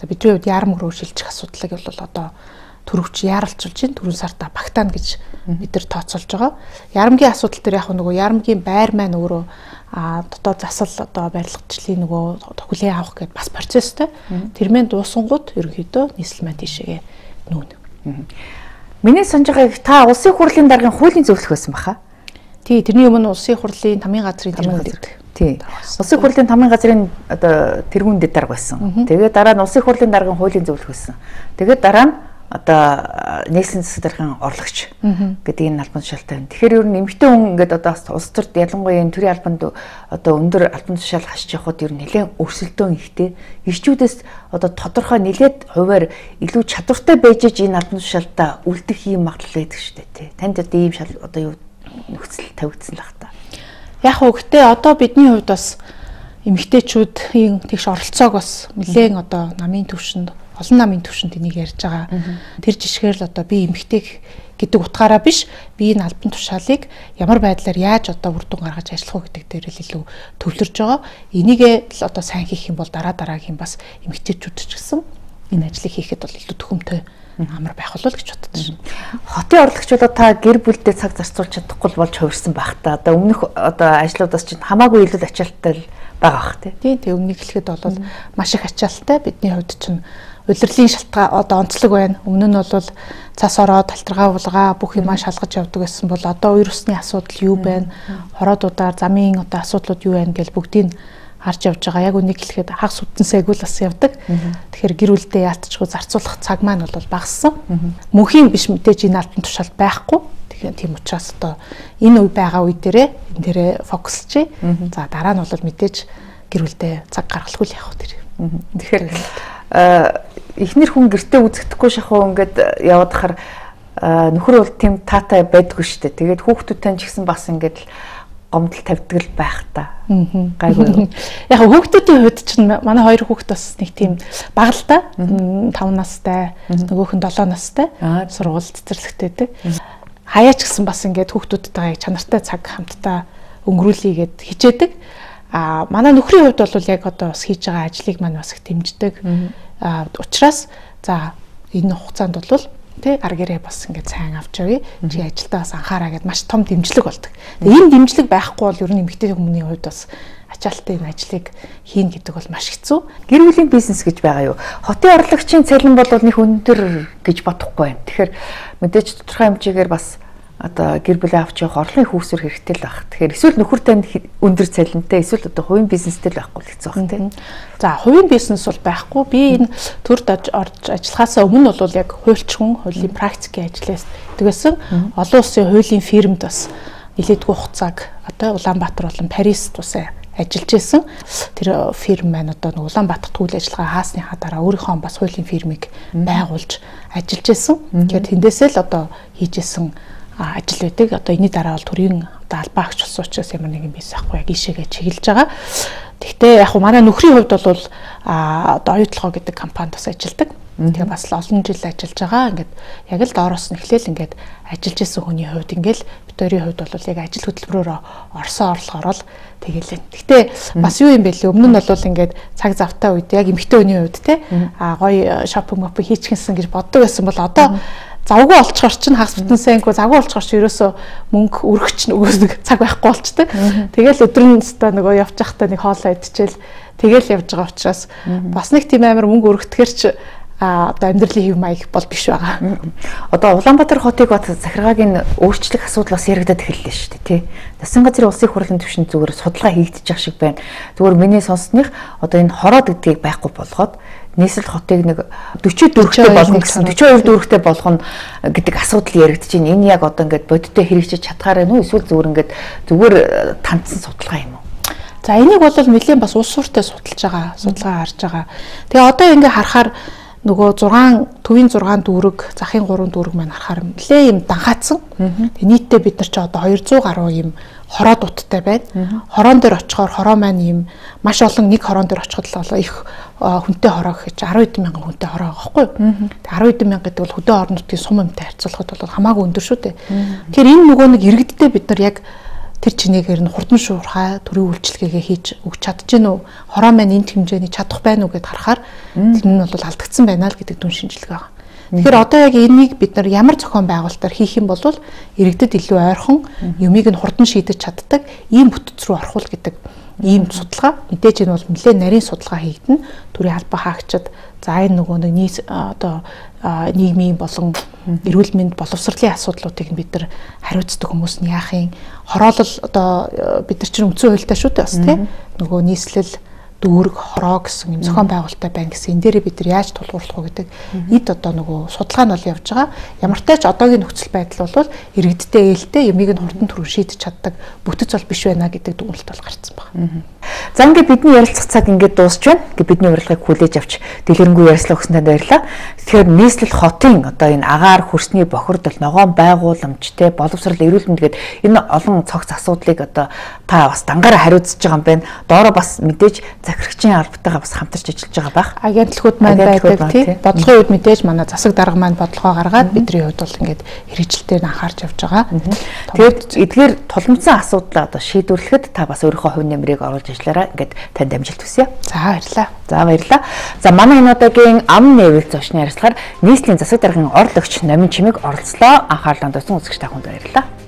За бидний хувьд яармөр шилжих асуудлыг бол одоо төрөвч яаралчулж чинь 4 сарда багтаана гэж бид нар тооцоолж байгаа. Ярамгийн асуудал дээр яг нөгөө ярамгийн байр маань өөрөө дотоод засал одоо барилгачлалын нөгөө хүлээн авах гэдэг бас процесстэй. Тэрмэн дуусангууд ерөнхийдөө нийслэл маань тийшээгээ нүүнэ. Миний санаж байгааг та улсын хурлын даргын хуулийн зөвлөх байсан баха. Тий, тэрний өмнө улсын хурлын тамийн газрын тэргүүнд байдаг. Тий. Улсын хурлын тамийн газрын одоо тэргүүнд дарга байсан. Тэгээд дараа нь улсын хурлын даргын хуулийн зөвлөх байсан. Тэгээд дараа нь одоо нийслэлийн засаг даргын орлогч гэдэг энэ албан тушаалтай байна. Тэгэхээр ер нь эмэгтэй хүн ингээд одоо улс төрд ялангуяа энэ төрийн албанд одоо өндөр албан тушаал хашиж явахад ер нь нэлээд өрсөлдөөн ихтэй. Ирчүүдээс одоо тодорхой нэлээд хуваар илүү чадвартай байж энэ албан тушаалтаа үлдэх юм магадлал байдаг шүү дээ тий. Танд одоо ийм шал одоо юу нөхцөл тавигдсан л бах та. Яг уу гэтээ одоо бидний хувьд бас эмэгтэйчүүдийн тэгш оролцоог бас нэлээд одоо намын төвшөнд олон намын төвшөнд энийг ярьж байгаа. Тэр жишгээр л одоо би эмэгтэй гэдэг утгаараа биш, би энэ албан тушаалыг ямар байдлаар яаж одоо үр дүн гаргаж ажиллах вэ гэдэг дээр л илүү төвлөрж байгаа. Энийгээ л одоо сайн хийх юм бол дараагийн бас эмэгтэйчүүд ч гэсэн энэ ажлыг хийхэд бол илүү төхөмтэй амар байх болов гэж боддог шин. Хотын орлогчдод та гэр бүлдээ цаг зарцуулж чадахгүй болж хувирсан байх та. Одоо өмнөх одоо ажлуудаас чинь хамаагүй илүү ачаалттай байгаа бах тий. Тэг өмнөг хэлэхэд бол маш их ачаалттай. Бидний хувьд чинь улирлын шалтгаан одоо онцлог байна. Өмнө нь бол цас ороод талтргаа булгаа бүх юмаа шалгаж явдаг гэсэн бол одоо вирусны асуудал юу байна? Хороодуудаар замын одоо асуудлууд юу байна гэж бүгдийг харж явж байгаа. Яг үнийг хэлэхэд хагас үтэнсэйг л бас явдаг. Тэгэхээр гэр бүлдээ яалтчгүй зарцуулах цаг маань бол багассан. Мөнхийн биш мэдээж энэ албан тушаал байхгүй. Тэгэхээр тийм учраас одоо энэ үе байгаа үе дээрээ энэ дээрээ фокуслчээ. За дараа нь бол мэдээж гэр бүлдээ цаг гаргахгүй л явах тэр. Тэгэхээр эхнэр хүн гэртээ үзэгдэхгүй шахуу ингээд яваад хахаар нөхөр бол тийм таатай байдгүй шүү дээ. Тэгээд хүүхдүүдтэй ч гэсэн бас ингээд гомдол тавьдаг л байх та. Гайгүй. Яг хүүхдүүдийн хувьд чинь манай хоёр хүүхд бас нэг тийм бага л та. 5 настай, нөгөөх нь 7 настай. Сургууль цэцэрлэгтэй байдаг. хаяач гэсэн бас ингээд хүүхдүүдтэйгээ чанартай цаг хамтдаа өнгөрүүлье гэд хичээдэг. Манай нөхрийн хувьд бол яг одоо бас хийж байгаа ажлыг маань бас их дэмждэг. Учираас за энэ хугацаанд бол тэ гар гэрээ бас ингээд сайн авч явъя. Чи ажилдаа бас анхаараа гэд маш том дэмжлэг болдог. Энэ дэмжлэг байхгүй бол ер нь эмэгтэй хүмүүний хувьд бас ачаалттай энэ ажлыг хийн гэдэг бол маш хэцүү. Гэр бүлийн бизнес гэж байгаа юу? Хотын орлогчийн цалин бол нэг өндөр гэж бодохгүй байна. Тэгэхээр мэдээж тодорхой хэмжээгээр бас одоо гэр бүлээ авч явах орлогын хүүсвэр хэрэгтэй л байх. Тэгэхээр эсвэл нөхөр танд өндөр цалинтай, эсвэл одоо хувийн бизнестэй л байхгүй л хэцүү байх тийм. За хувийн бизнес бол байхгүй. Би энэ төрд орж ажиллахаас өмнө бол яг хуульчхан, хуулийн практикийн ажлаас тэгсэн олон улсын хуулийн фирмд бас нэлээдгүй хугацааг одоо Улаанбаатар болон Парист тусаа ажиллаж исэн. Тэр фирм маань одоо нэг Улаанбаатарт үйл ажиллагаа хаасныхаа дараа өөрийнхөө бас хуулийн фирмийг байгуулж ажиллаж исэн. Тэгэхээр тэндээсээ л одоо хийж исэн ажил байдаг. Одоо энэний дараа бол төрийн одоо албаа агч болсон учраас ямар нэгэн бизнес ахгүй яг ишээгээ чиглэж байгаа. Гэхдээ яг манай нөхрийн хувьд бол одоо оюутлогоо гэдэг компанид бас ажилладаг. Тэгээ бас олон жил ажиллаж байгаа. Ингээд яг л доороос нь эхлээл ингээд ажиллаж исэн хүний хувьд ингээд битүүрийн хувьд бол яг ажил хөтөлбөрөөр орсон орлогоор л тэгэлээ. Гэхдээ бас юу юм бэ лээ? Өмнө нь бол ингээд цаг завтай үед яг эмэгтэй хүний хувьд те гоё шопинг моп хийчихсэн гэж боддог байсан бол одоо завгүй олцохоор чинь хагас бүтэн сайнгүй завгүй олцохоор чи ерөөсөө мөнгө өргөч нөгөөс нэг цаг байхгүй болчтой. Тэгэл өдрөн өстө нөгөө явж байхдаа нэг хоолоо идчихэл тэгэл явж байгаа учраас бас нэг тийм амар мөнгө өргөтгөр чи одоо амьдралын хэв маяг бол биш байгаа. Одоо Улаанбаатар хотыг бат захиргааг өөрчлөх асуудал бас яригадад эхэллээ шүү дээ, тий. Засгийн газрын улсын хурлын түвшинд зүгээр судалгаа хийгдэж байгаа шиг байна. Зүгээр миний сонсных одоо энэ хороод гэдгийг байхгүй болгоод нийслэл хотыг нэг 44-тэй болгоно гэсэн 42 дүүрэгтэй болгоно гэдэг асуудал яригдж байна. Энэ яг одоо ингээд бодиттой хэрэгжиж чадхаар байна уу? Эсвэл зүгээр тандсан судалгаа юм уу? За энийг бол нэлээд бас улс суурьтай судалж байгаа, судалгаа харж байгаа. Тэгээ одоо ингээд харахаар нөгөө 6 дүүрэг, захын 3 дүүрэг маань харахаар нэлээ юм данхаацсан. Тэгээ нийтдээ бид нар ч одоо 200 гаруй юм хороо дуттай байна. Хороон дээр очихоор хороо маань юм маш олон нэг хороон дээр очиход л их хүнтэй хороо гэж 10 мянган хүнтэй хороо байгаа байхгүй юу? Тэгээ 10 мянга гэдэг бол хөдөө орон нутгийн сум өмтэй харьцуулахад бол хамаагүй өндөр шүү дээ. Тэгэхээр энэ нөгөө нэг иргэддээ бид нар яг тэр чинээгээр нь хурдан шуурхай төрийн үйлчлэгээгээ хийж өгч чадчихэв үү? Хороо маань энэ хэмжээний чадах байна уу гэд харахаар тэр нь бол алдагдсан байна л гэдэг дүн шинжилгээ байгаа. Тэгэхээр одоо яг энийг бид нар ямар зохион байгуулалтаар хийх юм бол иргэдэд илүү ойрхон юмыг нь хурдан шийдэж чаддаг ийм бүтц рүү орох гэдэг ийм судалгаа. Мэдээж энэ бол нэлээд нарийн судалгаа хийгдэн төрийн албаа хаагчид за энэ нөгөө нэг одоо нийгмийн болон эрүүл мэнд боловсролын асуудлуудыг бид нар хариуцдаг хүмүүс нь яах юм? Хороолол одоо бид нар чинь үндсэн хуультай шүү дээ бас тийм нөгөө нийслэл дүүрэг хороо гэсэн юм зохион байгуулалттай байна гэсэн энэ дээрээ бид нар яаж тулгуурлах вэ гэдэг эд одоо нөгөө судалгаа нь бол явж байгаа. Ямартай ч одоогийн нөхцөл байдал бол иргэдтэй ээлтэй юмыг нь хурдан түрүү шийдэж чаддаг бүтэц бол биш байна гэдэг дүгнэлт бол гарцсан байна. За ингээд бидний ярилцах цаг ингээд дуусч байна. Ингээд бидний урилгыг хүлээж авч дэлгэрэнгүй ярилцлага өгсөнд танд баярлалаа. Тэгэхээр нийслэл хотын одоо энэ агаар хөрсний бохирдол, ногоон байгууламжтэй боловсрол, эрүүл мэнд гэдэг энэ олон цогц асуудлыг одоо та бас дангаараа хариуцж байгаа юм байна. Доороо бас мэдээж захирагчийн албатайгаа бас хамтарч ажиллаж байгаа бах. Агентлагууд маань байдаг тийм. Бодлогын үед мэдээж манай засаг дарга маань бодлогоо гаргаад бидний хувьд бол ингээд хэрэгжилтээр нь анхаарч явж байгаа. Тэгээд эдгээр тулмцсан асуудлаа одоо шийдвэрлэхэд та бас өөрийнхөө хувь нэмрийг оруулж ажиллаарай. Ингээд танд амжилт хүсье. За баярлалаа. За баярлалаа. За манай энэ удаагийн ам нээвэл зочны ярилцлагаар нийслэлийн засаг даргын орлогч Номин Чимэг оролцлоо. Анхаарлаа туссан үзэгч та бүхэнд баярлалаа.